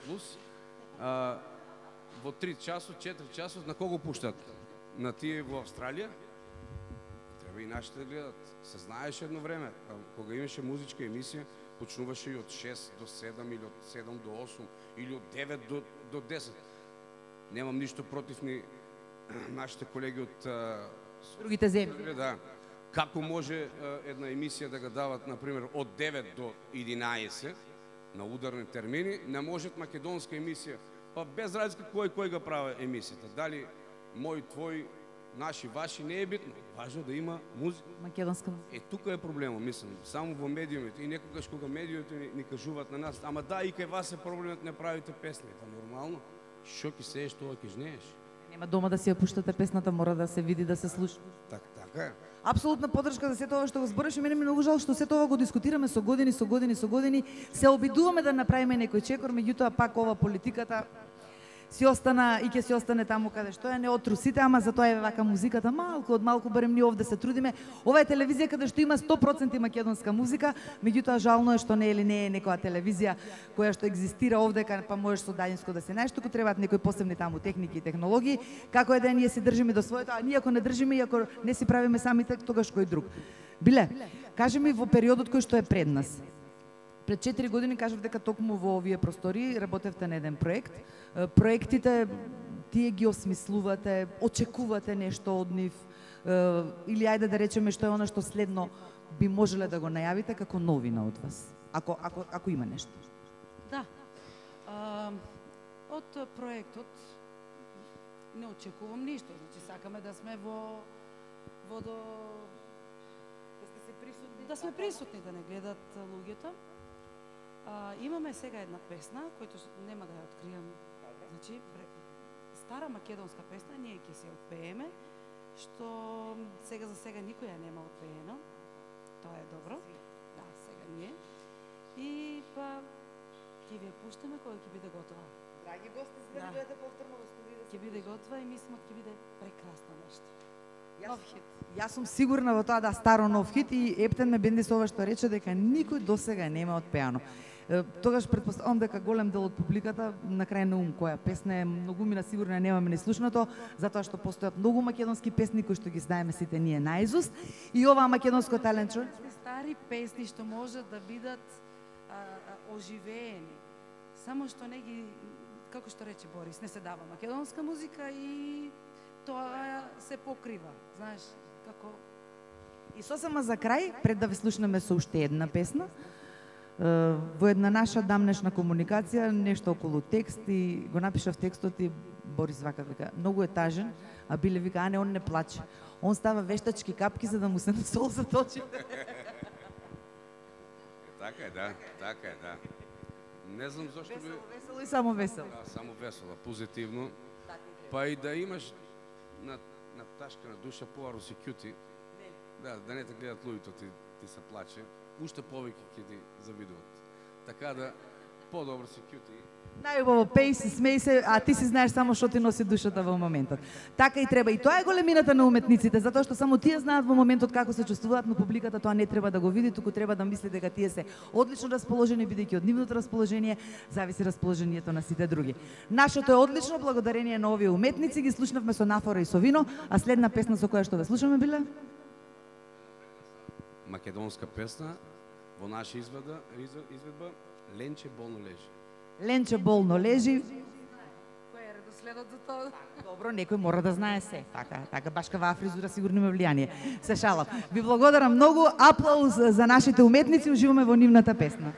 S2: Во 3 часот, 4 часот, на кого пуштат? На тие во Австралија? Треба и нашите да гледат. Се знаеше едно време, кога имаше музичка емисија, почнуваше и од 6 до 7 или од 7 до 8 или од 9 до 10. Немам ништо против ни нашите колеги од
S1: другите земји.
S2: Да. Како може една емисија да ga дават, например, од 9 до 11 на ударни термини, не можат македонска емисија, па без разлика кој ga прави емисијата. Дали мој, твој, наши, ваши, не е битно. Важно да има музика.
S1: Македонска музика.
S2: Е, тука е проблемот, мислам, само во медиумите. И некогаш кога медиумите ни кажуваат на нас, ама да, и кај вас е проблемот, не правите песни. Па нормално, шо ќе сееш, тоа ќе жнееш.
S1: Нема дома да си ја пуштате песната, мора да се види, да се слуша.
S2: Така е.
S1: Апсолутна поддршка за сето ова што го збориш, и мене ми многу жал што сето ова го дискутираме со години, се обидуваме да направиме некој чекор, меѓутоа пак ова политиката си остана и ќе си остане таму каде што е, не отру сите, ама затоа е вака музиката, малку од малку барем ние овде се трудиме. Ова е телевизија каде што има 100% македонска музика, меѓутоа жално е што не е некоја телевизија која што екзистира овде, па можеш со далинско да се најдеш, туку требаат некои посебни таму техники и технологии. Како е да ние си држиме до своето, а ние ако не држиме и ако не си правиме самите, тогаш кој друг. Биле, кажи ми во периодот кој што е пред нас. Пред 4 години кажав дека токму во овие простори работевте на еден проект. Проектите тие ги осмислувате, очекувате нешто од нив, или ајде да речеме што е она што следно би можеле да го најавите како новина од вас, ако има нешто.
S3: Да. Од проектот не очекувам ништо, значи сакаме да сме да сме присутни, да не гледат луѓето. Имаме сега една песна, којто нема да ја откријам. Значи, стара македонска песна, ние ќе се отпееме, што сега за сега никој ја нема отпеено. Тоа е добро. Да, сега ние. И па ќе ви ја пуштаме кога ќе биде готова.
S1: Драги гости, за да дојдете повторно во студио.
S3: Ќе биде готова и мислам ќе биде прекрасно нешто. Нов хит.
S1: Јас сум сигурна во тоа да старо нов хит, и Ептен ме бенди со ова што рече дека никој досега нема отпеано. Тогаш претпоставам дека голем дел од публиката на крај на ум која песна е многу мина сигурно ја немаме неслушнато, затоа што постојат многу македонски песни кои што ги знаеме сите ние наизуст, и оваа македонско талент шоу.
S3: Стари песни што можат да бидат оживеени. Само што не ги, како што рече Борис, не се дава македонска музика и тоа се покрива, знаеш, како.
S1: И сосема за крај, пред да ве слушнеме со уште една песна, во една наша дамнешна комуникација, нешто околу текст, и го напишав текстот и Борис вика, многу е тажен, а Биле вика, а не, он не плаче. Он става вештачки капки за да му се насолзат очите.
S2: Така е, да, така е, да. Не знам зашто би...
S1: Весело и само весело.
S2: Да, само весело, позитивно. Па и да имаш на пташка на душа поварно си кјути. Да не те гледат луѓето, ти се плаче. Уште повеќе ќе ти завидуваат. Така да подобро си кјути.
S1: Најубаво пеј се, смеј се, а ти си знаеш само што ти носи душата во моментот. Така и треба. И тоа е големината на уметниците, затоа што само тие знаат во моментот како се чувствуваат, но публиката тоа не треба да го види, туку треба да мисли дека тие се одлично расположени, бидејќи од нивното расположение зависи расположението на сите други. Нашето е одлично благодарение на овие уметници, ги слушнавме со нафора и со вино, а следна песна со која што ве слушаме биле?
S2: Македонска песна во наша изведба Ленче болно лежи.
S1: Ленче болно лежи.
S3: Кој е редоследот за тоа?
S1: Добро, некој мора да знае се. Така баш кава фризура сигурно има влијание. Се шалам. Ви благодарам многу. Аплауз за нашите уметници. Уживаме во нивната песна.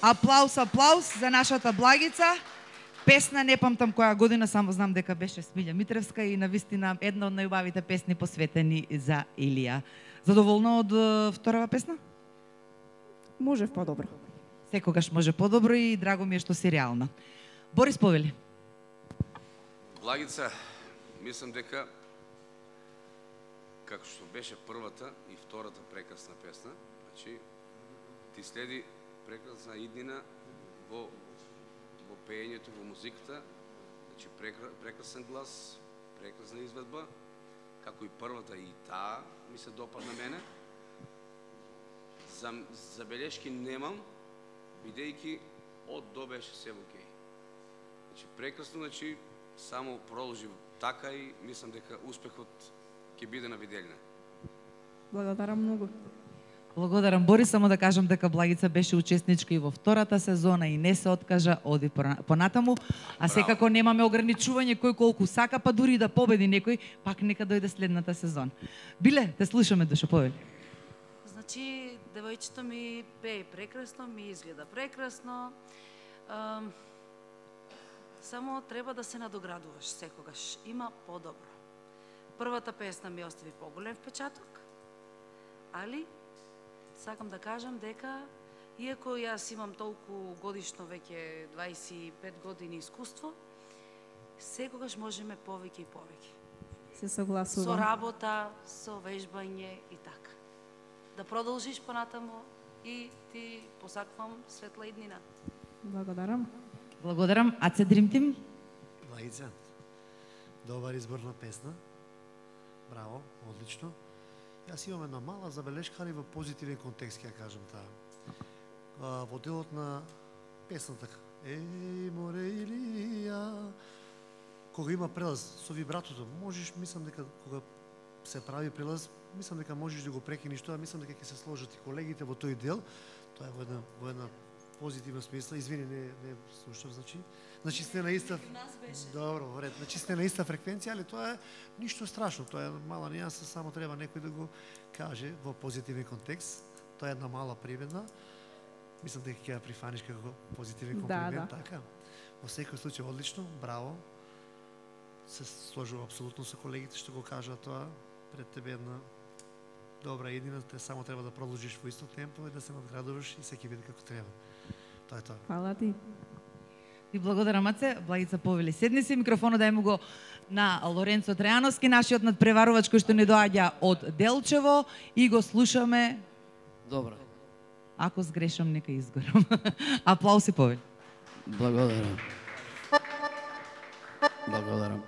S1: Аплауз, аплауз за нашата Благица. Песна не памтам која година, само знам дека беше Смилја Митревска и навистина една од најубавите песни посветени за Илија. Задоволна од вторава песна?
S5: Можев подобро.
S1: Секогаш може подобро и драго ми е што си реална. Борис повели.
S2: Благица, мислам дека како што беше првата и втората прекрасна песна, значи ти следи прекрасна иднина во пеењето, во музиката, значи прекрасен глас, прекрасна изведба, како и првата и таа ми се допадна мене. Забелешки немам, бидејќи од до беше се окей. Значи прекрасно, значи само продолжи така и мислам дека успехот ќе биде на виделина.
S5: Благодарам многу.
S1: Благодарам, Борис, само да кажам дека Благица беше учесничка и во втората сезона и не се откажа, оди понатаму, а секако немаме ограничување кој колку сака, па дури да победи некој, пак нека дојде следната сезон. Биле, те слушаме, Душо, повели.
S3: Значи, девојчето ми пее прекрасно, ми изгледа прекрасно. Само треба да се надоградуваш секогаш. Има подобро. Првата песна ми остави поголем впечаток, али сакам да кажам дека, иако јас имам толку годишно, веќе 25 години искуство, секогаш можеме повеќе и повеќе.
S5: Се согласувам.
S3: Со работа, со вежбање и така. Да продолжиш понатаму и ти посаквам светла иднина.
S5: Благодарам.
S1: Благодарам. Аце Dream Team?
S4: Благица, добар избор на песна. Браво, одлично. Јас имам една мала забелешка, али во позитивен контекст, ќе кажам таа. Во делот на песната Еј, море Илија, кога има прелаз со вибратото, можеш, мислам дека кога се прави прелаз, мислам дека можеш да го прекиниш тоа, мислам дека ќе се сложат и колегите во тој дел. Тоа е во една позитивна смисла. Извини, не слушав, значи сте на иста. Добро, во ред. Значи сте на иста фреквенција, али тоа е ништо страшно. Тоа е мала нијанса, само треба некој да го каже во позитивен контекст. Тоа е една мала примедба. Мислам дека ќе ја прифаниш како позитивен комплимент, така. Во секој случај одлично, браво. Се сложува апсолутно со колегите што го кажа тоа. Пред тебе една добра иднина, те само треба да продолжиш во исто темпо и да се надградуваш и секи биде како треба. Тоа е тоа.
S5: Фала ти.
S1: И благодарам, Аце. Благица повели. Седни си, микрофонот дај му го на Лоренцо Трајановски, нашиот надпреварувач кој што не доаѓа од Делчево и го слушаме.
S6: Добро.
S1: Ако сгрешам, нека изгорам. Аплауси повели.
S6: Благодарам. Благодарам.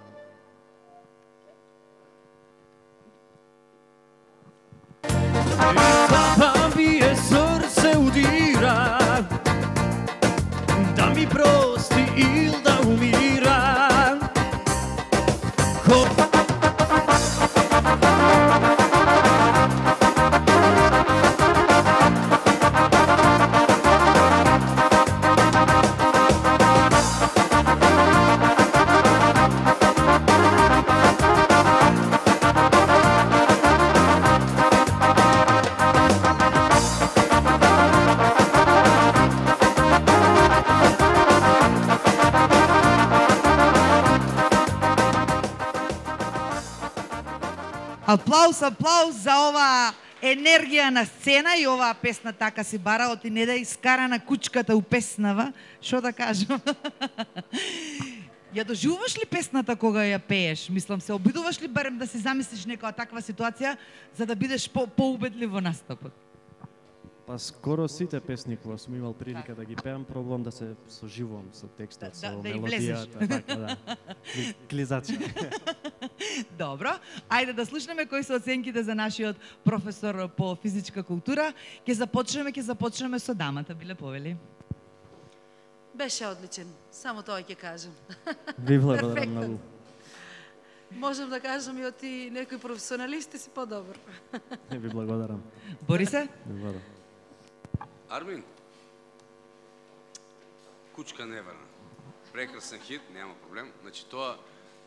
S8: Папа бие срце удира, да ми прости или да умира.
S1: Аплауз, аплауз за оваа енергија на сцена и оваа песна така си бара, оти не да искара на кучката у песнава, што да кажам. Ја доживуваш ли песната кога ја пееш? Мислам, се обидуваш ли барем да си замислиш некоја таква ситуација за да бидеш поубедлив во настапот?
S7: Па скоро сите песни кога сум имал прилика да ги пеам, пробувам да се соживувам со текстот, со мелодијата, така да. Клизача.
S1: Добро, ајде да слушнеме кои се оценките за нашиот професор по физичка култура. Ќе започнеме со дамата, биле повели.
S3: Беше одличен, само тоа ќе кажам.
S7: Ви благодарам многу.
S3: Можам да кажам и од ти некои професионалисти си подобар.
S7: Ви благодарам.
S1: Борисе?
S7: Ви благодарам.
S2: Армин, Кучка неверна. Прекрасен хит, нема проблем. Значи тоа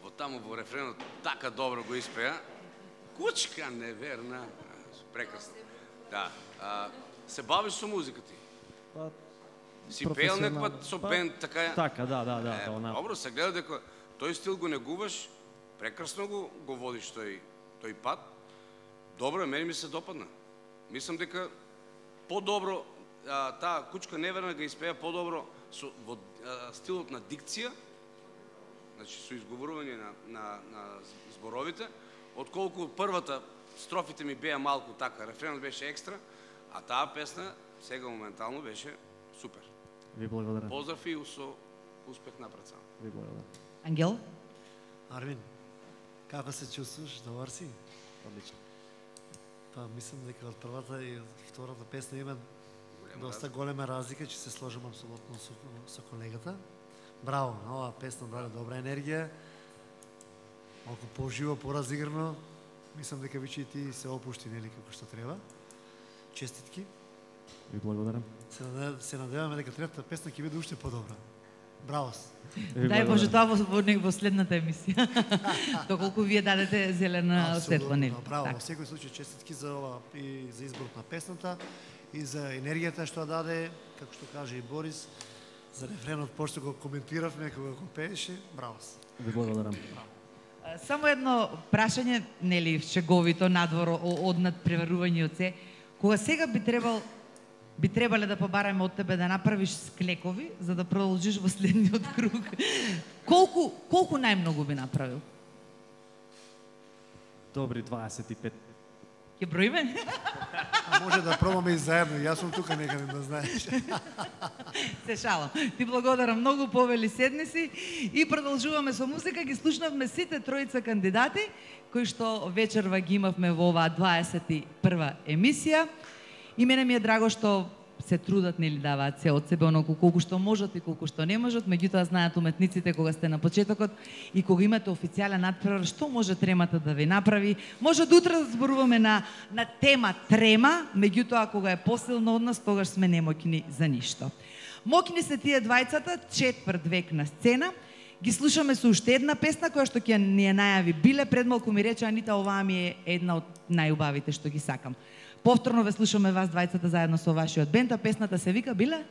S2: во таму во рефренот така добро го испеа. Кучка неверна. Прекрасно. Да. Се бавиш со музика ти?
S7: Па,
S2: Си пеел некој со бенд, така е?
S7: Така, да, она.
S2: Добро, се гледа дека тој стил го негуваш, прекрасно го водиш тој пат. Добро, мене ми се допадна. Мислам дека по-добро таа Кучка неверна го испеа по-добро во стилот на дикција, значи со изговорување на зборовите, отколку првата строфите ми беа малку така, рефренот беше екстра, а таа песна сега моментално беше супер.
S7: Ви благодарам.
S2: Поздрав и со успех напред само.
S7: Ви благодарам.
S1: Ангел?
S4: Арвин, како се чувствуваш? Добар си?
S7: Одлично.
S4: Па мислам дека од првата и втората песна има доста голема разлика, че се сложам апсолутно со колегата. Браво, оваа песна даде добра енергија, малку поживо, поразиграно. Мислам дека вичи и ти се опушти, нели, како што треба. Честитки.
S7: Ви благодарам.
S4: Се надеваме дека третата песна ќе биде уште подобра. Браво.
S1: Дај Боже, тоа во следната емисија. Доколку вие дадете зелена светла, нели?
S4: Браво, во секој случај честитки за ова и за изборот на песната и за енергијата што даде, како што каже и Борис, за рефренот пошто го коментиравме кога го пееше. Браво.
S7: Ви благодарам.
S1: Само едно прашање, нели, шеговито надвор од надпреварување од се. Кога сега би требале да побараме од тебе да направиш склекови за да продолжиш во следниот круг. Колку најмногу би направил?
S7: Добри 25.
S1: Ќе броиме?
S4: А може да пробаме и заедно, јас сум тука некаде да знаеш.
S1: Се шалам. Ти благодарам многу, Повели, седни си и продолжуваме со музика. Ги слушнавме сите тројца кандидати кои што вечерва ги имавме во оваа 21 емисија. И мене ми е драго што се трудат, нели, даваат се од себе оноку колку што можат и колку што не можат, меѓутоа знаат уметниците кога сте на почетокот и кога имате официјален надпревар, што може тремата да ви направи. Може да утре да зборуваме на тема трема, меѓутоа кога е посилно од нас, тогаш сме немоќни за ништо. Моќни се тие двајцата, четврт век на сцена. Ги слушаме со уште една песна која што ќе ни ја најави Биле. Пред малку ми рече Анита, оваа ми е една од најубавите што ги сакам. Повторно ве слушаме вас двајцата заедно со вашиот бенд, а песната се вика Биле?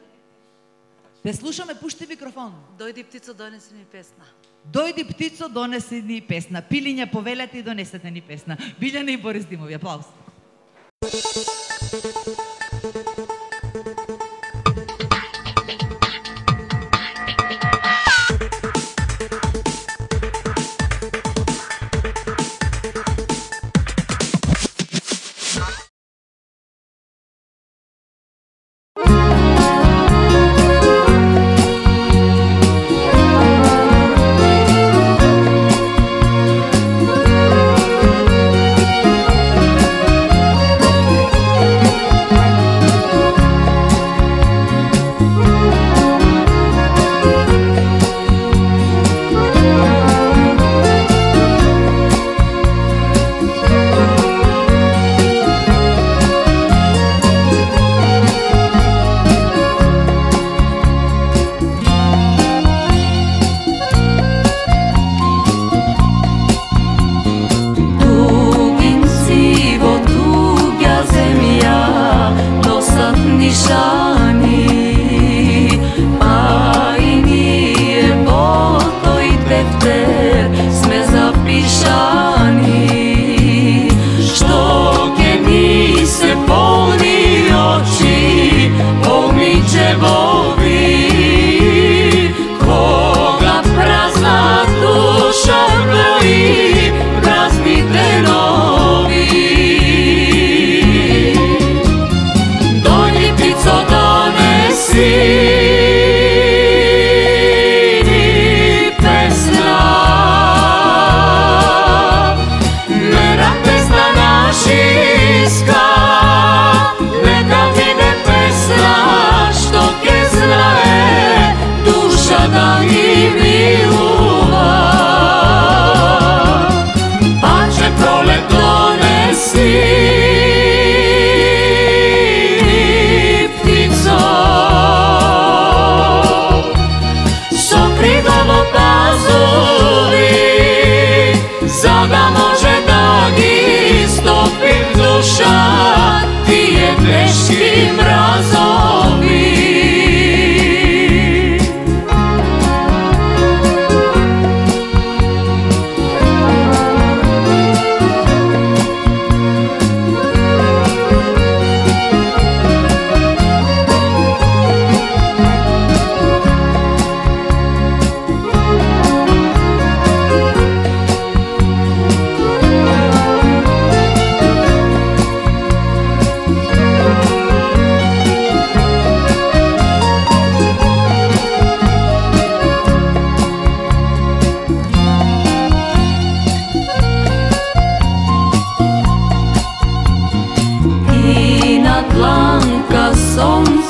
S1: Те слушаме, пушти микрофон.
S3: Дојди птицо, донеси ни песна.
S1: Дојди птицо, донеси ни песна. Пилиња, повелете и донесете ни песна. Билјана и Борис Димови, аплауз.
S9: Ptico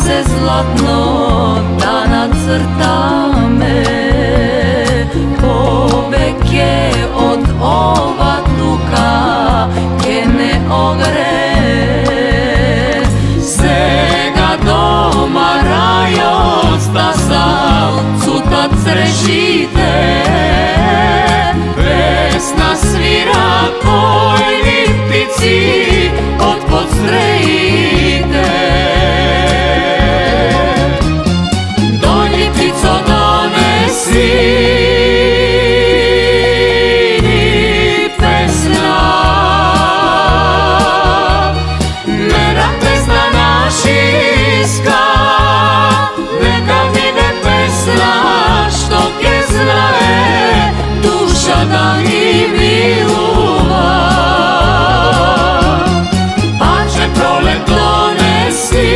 S9: се златно да нацртаме, повеќе од ова тука ке не огре. Сега дома рајот стасал, цутат црешите, песна свира којни птици од подстреите. Дојди птицо донеси ни песна, мера песна нашиска, нека биде песна што ке знае душа да ни милува. Паче пролет донеси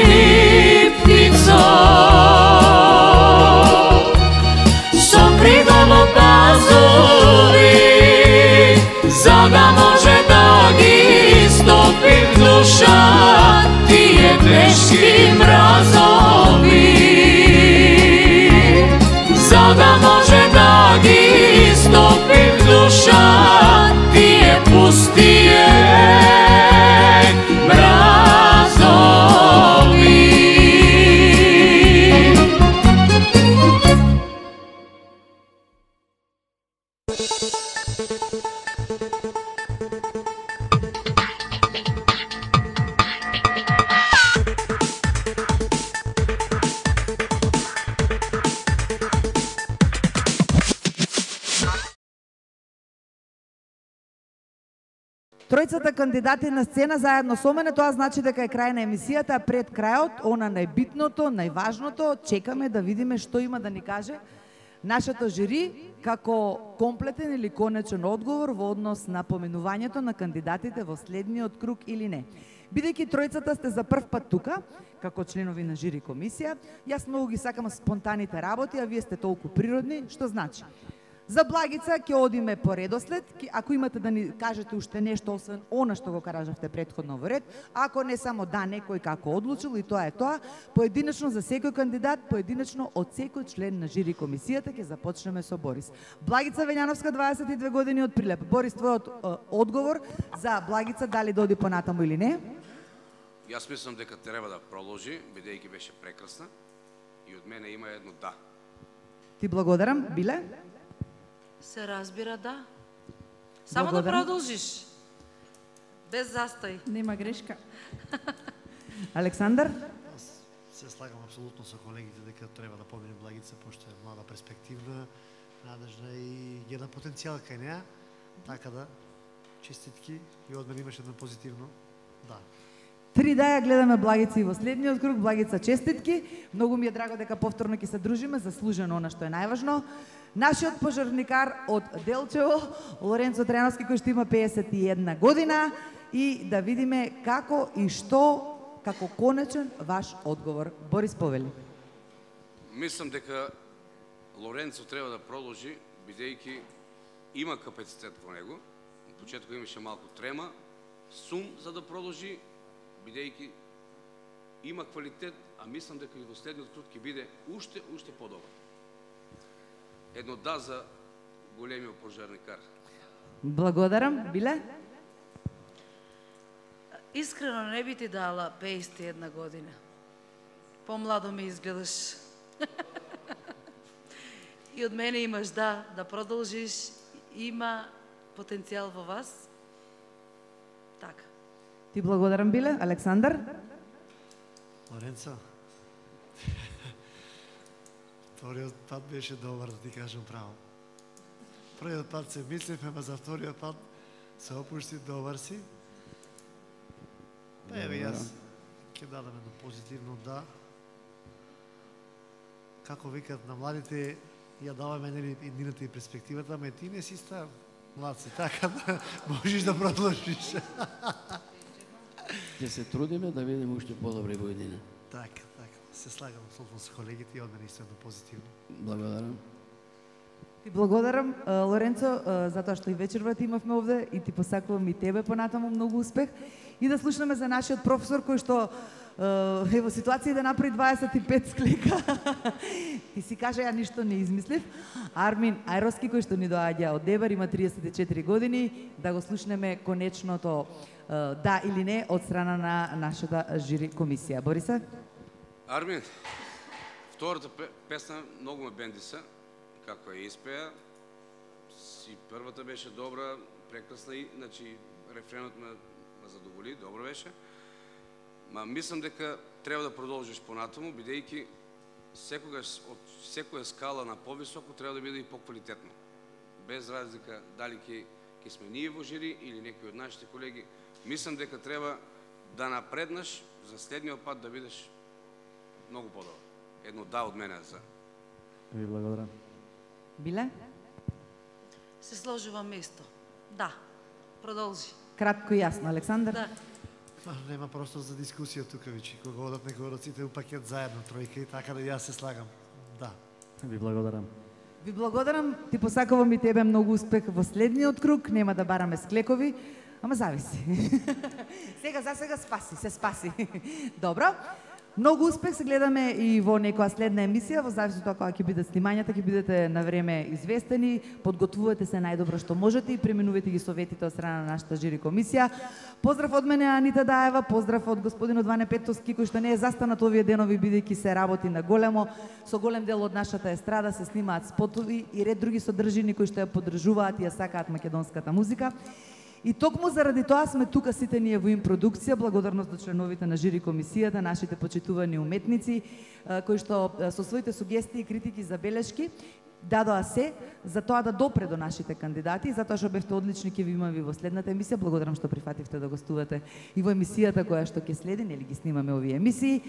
S9: ни птицо, со крило пазури, за да може да ги стопи в душа тие тешки мразови, за да може да ги стопи в душа тие пустие мразови.
S1: Тројцата кандидати на сцена заедно со мене, тоа значи дека е крај на емисијата, пред крајот, она најбитното, најважното, чекаме да видиме што има да ни каже нашето жири како комплетен или конечен одговор во однос на поменувањето на кандидатите во следниот круг или не. Бидејќи тројцата сте за прв пат тука, како членови на жири комисија, јас многу ги сакам спонтаните работи, а вие сте толку природни, што значи? За Благица ќе одиме по редослед, ако имате да ни кажете уште нешто освен она што го кажавте претходно во ред, ако не само да некој како одлучил и тоа е тоа, поединечно за секој кандидат, поединечно од секој член на жири комисијата ќе започнеме со Борис. Благица Вењановска, 22 години од Прилеп. Борис, твојот одговор за Благица дали да оди понатаму или не?
S2: Јас мислам дека треба да продолжи, бидејќи беше прекрасна и од мене има едно да.
S1: Ти благодарам, Биле?
S3: Се разбира, да. Само да продолжиш. Без застој.
S5: Нема грешка.
S1: Александар?
S4: Се слагам апсолутно со колегите дека треба да помине Благица, пошто е млада, перспективна, надежна и една потенцијал кај неа. Така да, честитки и од мене имаш едно позитивно да.
S1: 3 да ја гледаме Благица и во следниот круг. Благица, честитки. Многу ми е драго дека повторно ќе се дружиме, заслужено она што е најважно. Нашиот пожарникар од Делчево, Лоренцо Треновски, кој што има 51 година, и да видиме како и што, како конечен ваш одговор. Борис, повели.
S2: Мислам дека Лоренцо треба да продолжи, бидејќи има капацитет во него. На почетокот имаше малку трема, сум за да продолжи, бидејќи има квалитет, а мислам дека и во следниот круг ќе биде уште подобар. Едно да за големиот пожарникар.
S1: Благодарам. Биле?
S3: Искрено не би ти дала 51 година. Помладо ми изгледаш. И од мене имаш да продолжиш. Има потенцијал во вас. Така.
S1: Ти благодарам, Биле. Александар?
S4: Лоренцо, вториот пат беше добар, да ти кажам право. Првиот пат се мислевме, ама за вториот пат се опушти, добар си. Па еве јас ќе дадам едно позитивно да. Како викат на младите, ја даваме еднината и перспективата, ама ти не си стар, млад си, така да можеш да продолжиш.
S6: Ќе се трудиме да видиме уште подобри во едина.
S4: Така. Се слагам абсолютно со колегите и од мене исто едно позитивно.
S6: Благодарам.
S1: Ти благодарам, Лоренцо, затоа што и вечерва ти имавме овде и ти посакувам и тебе понатаму многу успех. И да слушнеме за нашиот професор кој што е во ситуација да направи 25 склека. И си каже, ја ништо не измислив. Армин Ајровски, кој што ни доаѓа од Дебар, има 34 години, да го слушнеме конечното да или не од страна на нашата жири комисија. Борисе?
S2: Армин, втората песна многу ме бендиса, како ја испеа. И првата беше добра, прекрасна и, значи, рефренот ме задоволи, добро беше. Ма мислам дека треба да продолжиш понатаму, бидејќи секогаш од секоја скала на повисоко треба да биде и поквалитетно. Без разлика дали ќе сме ние во жири или некои од нашите колеги, мислам дека треба да напреднаш за следниот пат да бидеш многу подобар. Едно да од мене за.
S7: Ви благодарам.
S1: Биле?
S3: Се сложувам исто. Да. Продолжи.
S1: Кратко и јасно, Александар.
S3: Да.
S4: Нема простор за дискусија тука вече. Кога одат некои од сите у пакет заедно, тројка и така да јас се слагам. Да.
S7: Ви благодарам.
S1: Ви благодарам, ти посакувам и тебе многу успех во следниот круг, нема да бараме склекови, ама зависи. Сега за сега спаси, се спаси. Добро. Многу успех, се гледаме и во некоја следна емисија, во зависи од тоа кога ќе бидат снимањата, ќе бидете на време известени, подготвувате се најдобро што можете и преминувате ги советите од страна на нашата жири комисија. Поздрав од мене Анита Даева, поздрав од господинот Ване Петовски, кој што не е застанат овие денови бидејќи се работи на големо, со голем дел од нашата естрада се снимаат спотови и ред други содржини кои што ја поддржуваат и ја сакаат македонската музика. И токму заради тоа сме тука сите ние во Импродукција, благодарност до членовите на жири комисијата, нашите почитувани уметници, кои што со своите сугестии, критики, забелешки дадоа се за тоа да допре до нашите кандидати, затоа што бевте одлични, ќе ви имаме во следната емисија. Благодарам што прифативте да гостувате и во емисијата која што ќе следи, нели ги снимаме овие емисии.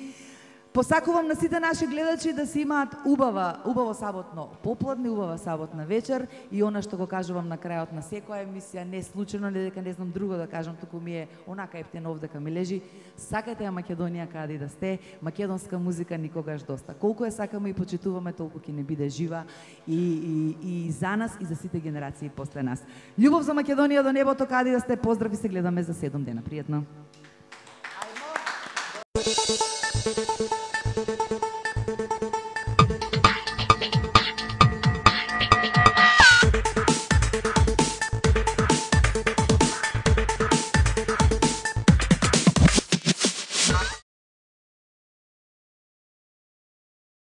S1: Посакувам на сите наши гледачи да си имаат убаво саботно попладне, убава саботна вечер и она што го кажувам на крајот на секоја емисија, не случајно, не дека не знам друго да кажам, туку ми е онака ептено овдека ми лежи. Сакате ја Македонија каде и да сте, македонска музика никогаш доста. Колку ја сакаме и почитуваме, толку ќе не биде жива и за нас и за сите генерации после нас. Љубов за Македонија до небото каде да сте, поздрав и се гледаме за 7 дена. Пријатно.